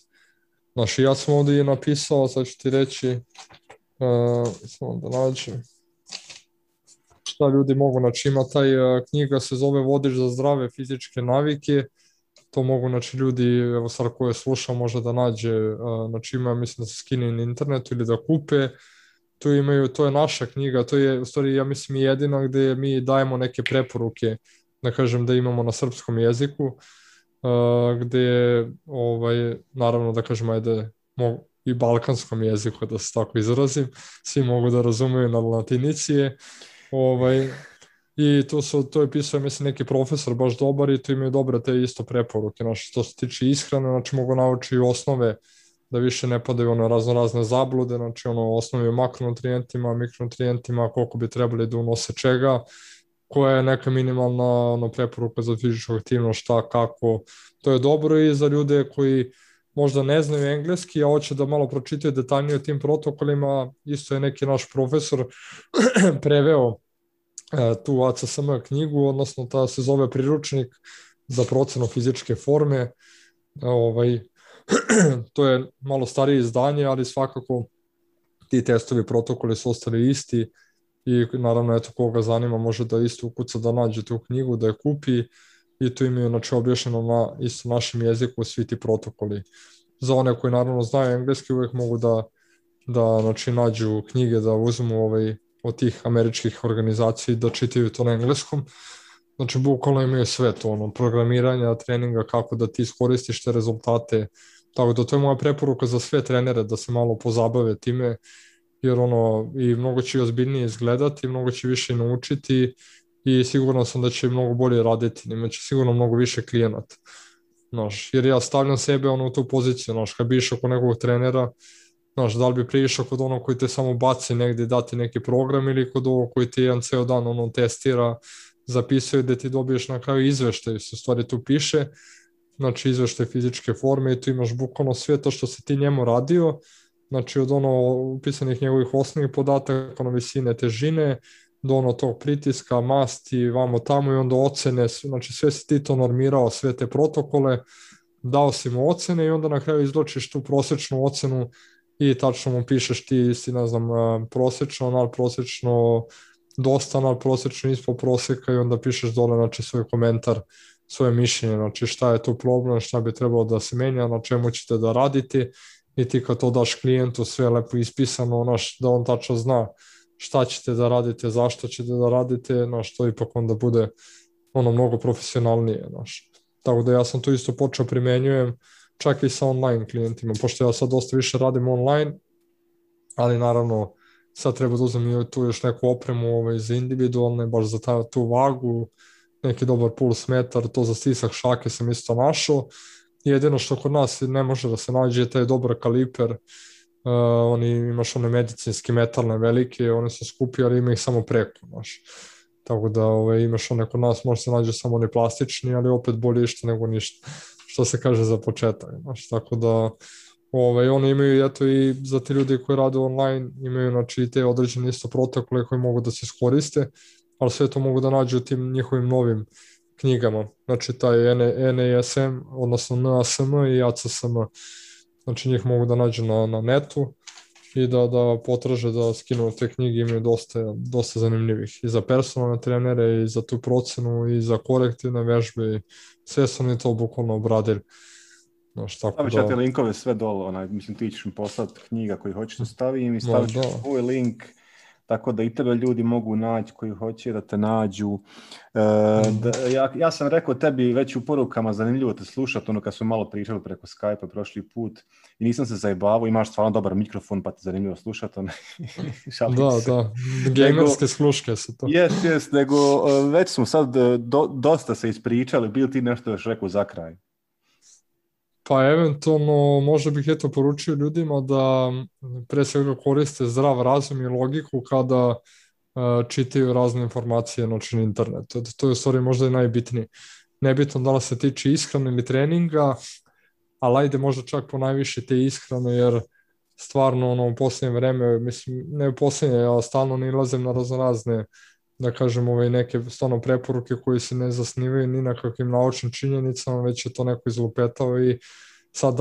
I ja sam ovdje napisao, sad ću ti reći, samo da nađem šta ljudi mogu, ima taj knjiga se zove Vodič za zdrave fizičke navike, to mogu ljudi, evo sad koje sluša može da nađe, ima, mislim da se skine na internetu ili da kupe. To je naša knjiga, to je u stvari ja mislim i jedina gdje mi dajemo neke preporuke, da kažem da imamo na srpskom jeziku, gdje naravno da kažem i balkanskom jeziku da se tako izrazim, svi mogu da razumeju na latinici i to je pisao mislim neki profesor baš dobar i to imaju dobre te isto preporuke, što se tiče ishrane, mogu naučiti i osnove da više ne padaju razne zablude, osnovi o makronutrijentima, mikronutrijentima, koliko bi trebali da unose čega, koja je neka minimalna preporuka za fizičku aktivnost, šta, kako. To je dobro i za ljude koji možda ne znaju engleski, a hoće da malo pročitaju detaljnije o tim protokolima. Isto je neki naš profesor preveo tu ACSM knjigu, odnosno ta se zove Priručnik za procenu fizičke forme. To je malo starije izdanje, ali svakako ti testovi protokoli su ostali isti i naravno eto koga zanima može da isto ukuca da nađe tu knjigu, da je kupi i tu imaju objašnjeno na isto našem jeziku svi ti protokoli. Za one koji naravno znaju engleski uvijek mogu da nađu knjige, da uzmu od tih američkih organizacija da čitaju to na engleskom. Bukvalno imaju sve to, programiranja, treninga, kako da ti iskoristiš te rezultate. Tako da to je moja preporuka za sve trenere da se malo pozabave time, jer i mnogo će ozbiljnije izgledati, mnogo će više naučiti i sigurno sam da će mnogo bolje raditi, imaće sigurno mnogo više klijenata. Jer ja stavljam sebe u tu poziciju, kad bi išao kod nekog trenera, da li bi prišao kod onog koji te samo baci negdje dati neki program ili kod ovog koji ti jedan ceo dan testira, zapisuje da ti dobiješ na kraju izveštaj, se u stvari tu piše, izveštaj fizičke forme i tu imaš bukvalno sve to što si ti njemu radio, od upisanih njegovih osnovnih podataka, visine, težine, do tog pritiska, masti, vamo tamo i onda ocene, sve si ti to normirao, sve te protokole, dao si mu ocene i onda na kraju izločiš tu prosječnu ocenu i tačno mu pišeš ti si, ne znam, prosječno, nadprosječno, dosta nadprosječno, ispod prosjeka i onda pišeš dole, svoj komentar, svoje mišljenje, šta je tu problem, šta bi trebalo da se menja, na čemu ćete da raditi i ti kad to daš klijentu sve lepo ispisano, da on tačno zna šta ćete da radite, zašto ćete da radite, to ipak onda bude mnogo profesionalnije. Tako da ja sam to isto počeo primenjujem čak i sa online klijentima, pošto ja sad dosta više radim online, ali naravno sad treba da uzmem tu još neku opremu za individualne, baš za tu vagu, neki dobar puls metar, to za stisak šake sam isto našao. Jedino što kod nas ne može da se nađe je taj dobar kaliper oni imaš one medicinske metalne velike, one su skupi, ali ima ih samo preko, znaš. Tako da imaš one kod nas, možda se nađe samo oni plastični, ali opet bolje išta nego ništa, što se kaže za početak, znaš. Tako da oni imaju, eto, i za te ljudi koji rade online, imaju, znači, te određene isto protokole koje mogu da se iskoriste, ali sve to mogu da nađu u tim njihovim novim knjigama, znači taj NASM, odnosno NASM i ACSM, znači njih mogu da nađu na netu i da potraže da skinu te knjige, imaju dosta zanimljivih i za personalne trenere i za tu procenu i za korektivne vežbe i sve su oni to bukvalno obradili. Stavit ću te linkove sve dole, mislim ti ćeš mi poslati knjiga koji hoćeš da stavim i stavit ću svoj link, tako da i tebe ljudi mogu naći koji hoće da te nađu. Ja sam rekao tebi već u porukama, zanimljivo te slušati, kad smo malo pričali preko Skype-a prošli put i nisam se zajebavao, imaš stvarno dobar mikrofon pa te zanimljivo slušati. Da, gamerske sluške su to. Jes, nego već smo sad dosta se ispričali, bil ti nešto još rekao za kraj? Pa eventualno možda bih poručio ljudima da pre svega koriste zdrav razum i logiku kada čitaju razne informacije na internetu. To je u stvari možda i najbitnije. Nebitno da li se tiče ishrane ili treninga, ali ajde možda čak po najviše te ishrane, jer stvarno u posljednje vreme, mislim, ne u posljednje, ja stalno nalazim na razne, da kažem, neke stvarno preporuke koje se ne zasnivaju ni na kakvim naučnim činjenicama, već je to neko izlupetao i sad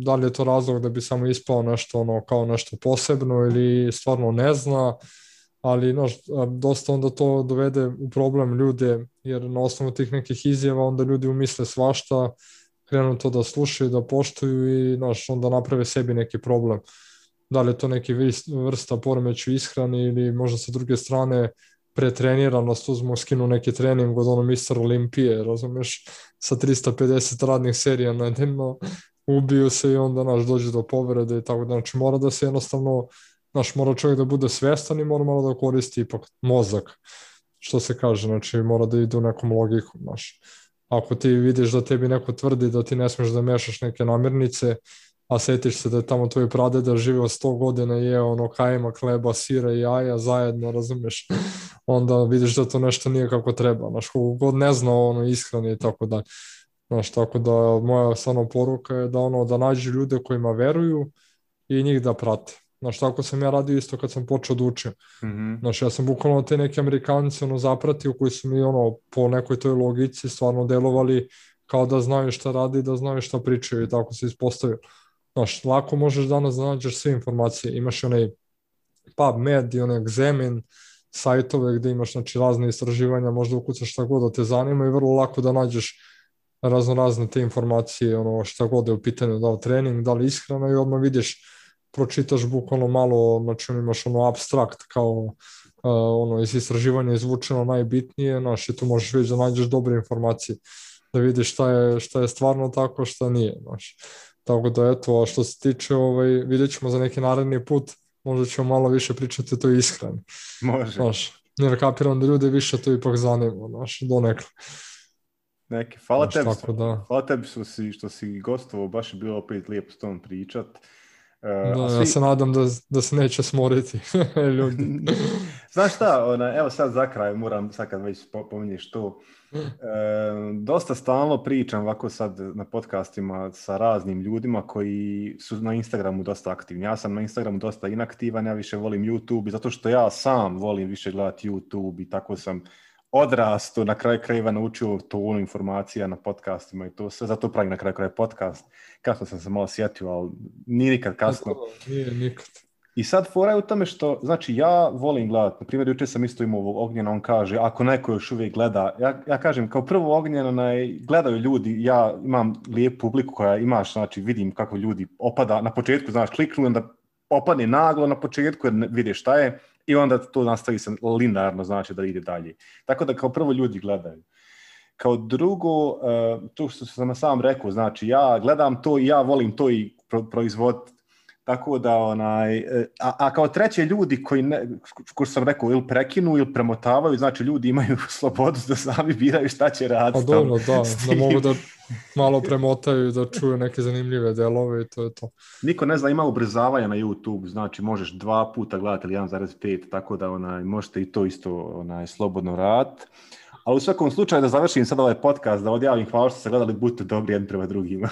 da li je to razlog da bi samo ispao nešto kao nešto posebno ili stvarno ne zna, ali dosta onda to dovede u problem ljude, jer na osnovu tih nekih izjava onda ljudi umisle svašta, krenu to da slušaju, da poštuju i onda naprave sebi neki problem. Da li je to neki vrsta poremeću ishrani ili možda sa druge strane pretreniranost, skinu neki trening od Mr. Olimpije, razumeš, sa 350 radnih serija na dnevno, ubiju se i onda dođe do povrede i tako da, znači mora da se jednostavno, mora čovjek da bude svestan i mora malo da koristi ipak mozak, što se kaže, znači mora da ide u nekom logiku, ako ti vidiš da tebi neko tvrdi da ti ne smiješ da mešaš neke namirnice, a setiš se da je tamo tvoj pradeda živio 100 godina i jeo kajmak, hleba, sira i jaja zajedno, razumiješ, onda vidiš da to nešto nije kako treba, kako god ne zna ishrani i tako dalje. Tako da moja stvarno poruka je da nađu ljude kojima veruju i njih da prate. Tako sam ja radio isto kad sam počeo da učim. Ja sam bukvalno te neke Amerikance zapratio koji su mi po nekoj toj logici stvarno delovali kao da znaju šta radi i da znaju šta pričaju i tako se ispostavio. Lako možeš danas da nađeš sve informacije, imaš onaj PubMed i onaj Examine sajtove gde imaš razne istraživanja, možda ukucaš šta god da te zanima i vrlo lako da nađeš razne te informacije, šta god je u pitanju, da li trening, da li ishrana i odmah vidiš, pročitaš bukvalno malo, imaš abstrakt kao iz istraživanja izvučeno najbitnije, i tu možeš već da nađeš dobre informacije, da vidiš šta je stvarno tako, šta nije, Tako da eto, a što se tiče, vidjet ćemo za neki naredni put, možda ćemo malo više pričati o toj ishrani. Može. Jer kapiram da ljude više to ipak zanima, donekle. Hvala tebi, hvala tebi što si gostovao, baš je bilo opet lijepo s tom pričat. Ja se nadam da se neće smoriti ljudi. Znaš šta, evo sad za kraj, moram sad kad već pominješ to, dosta stalno pričam ovako sad na podcastima sa raznim ljudima koji su na Instagramu dosta aktivni. Ja sam na Instagramu dosta inaktivan, ja više volim YouTube, zato što ja sam volim više gledati YouTube i tako sam odrasto, na kraju krajeva naučio tonu informacija na podcastima i to sve, zato pravim na kraju krajeva podcast. Kasno sam se malo sjetio, ali nije nikad kasno. Nije nikad. I sad fora je u tome što, znači ja volim gledati, na primjer jučer sam isto imao ovog Ognjena, on kaže, ako neko još uvijek gleda, ja kažem, kao prvo Ognjena, gledaju ljudi, ja imam lijepu publiku koja imaš, znači vidim kako ljudi opada, na početku, znaš, kliknu, onda opadne naglo na početku jer vidiš šta je i onda to nastavi se linearno, znači da ide dalje. Tako da kao prvo ljudi gledaju. Kao drugo, to što sam sam rekao, znači ja gledam to i ja volim to i proizvoditi. Tako da, a kao treće ljudi ko sam rekao, ili prekinu ili premotavaju, znači ljudi imaju slobodu da sami biraju šta će raditi. Pa dobro, da mogu da malo premotaju i da čuju neke zanimljive delove i to je to. Niko ne zna, ima ubrzavanja na YouTube, znači možeš 2 puta gledati ili 1,5, tako da možete i to isto slobodno raditi. Ali u svakom slučaju da završim sad ovaj podcast, da odjavim, hvala što ste gledali, budite dobri jedni prema drugima.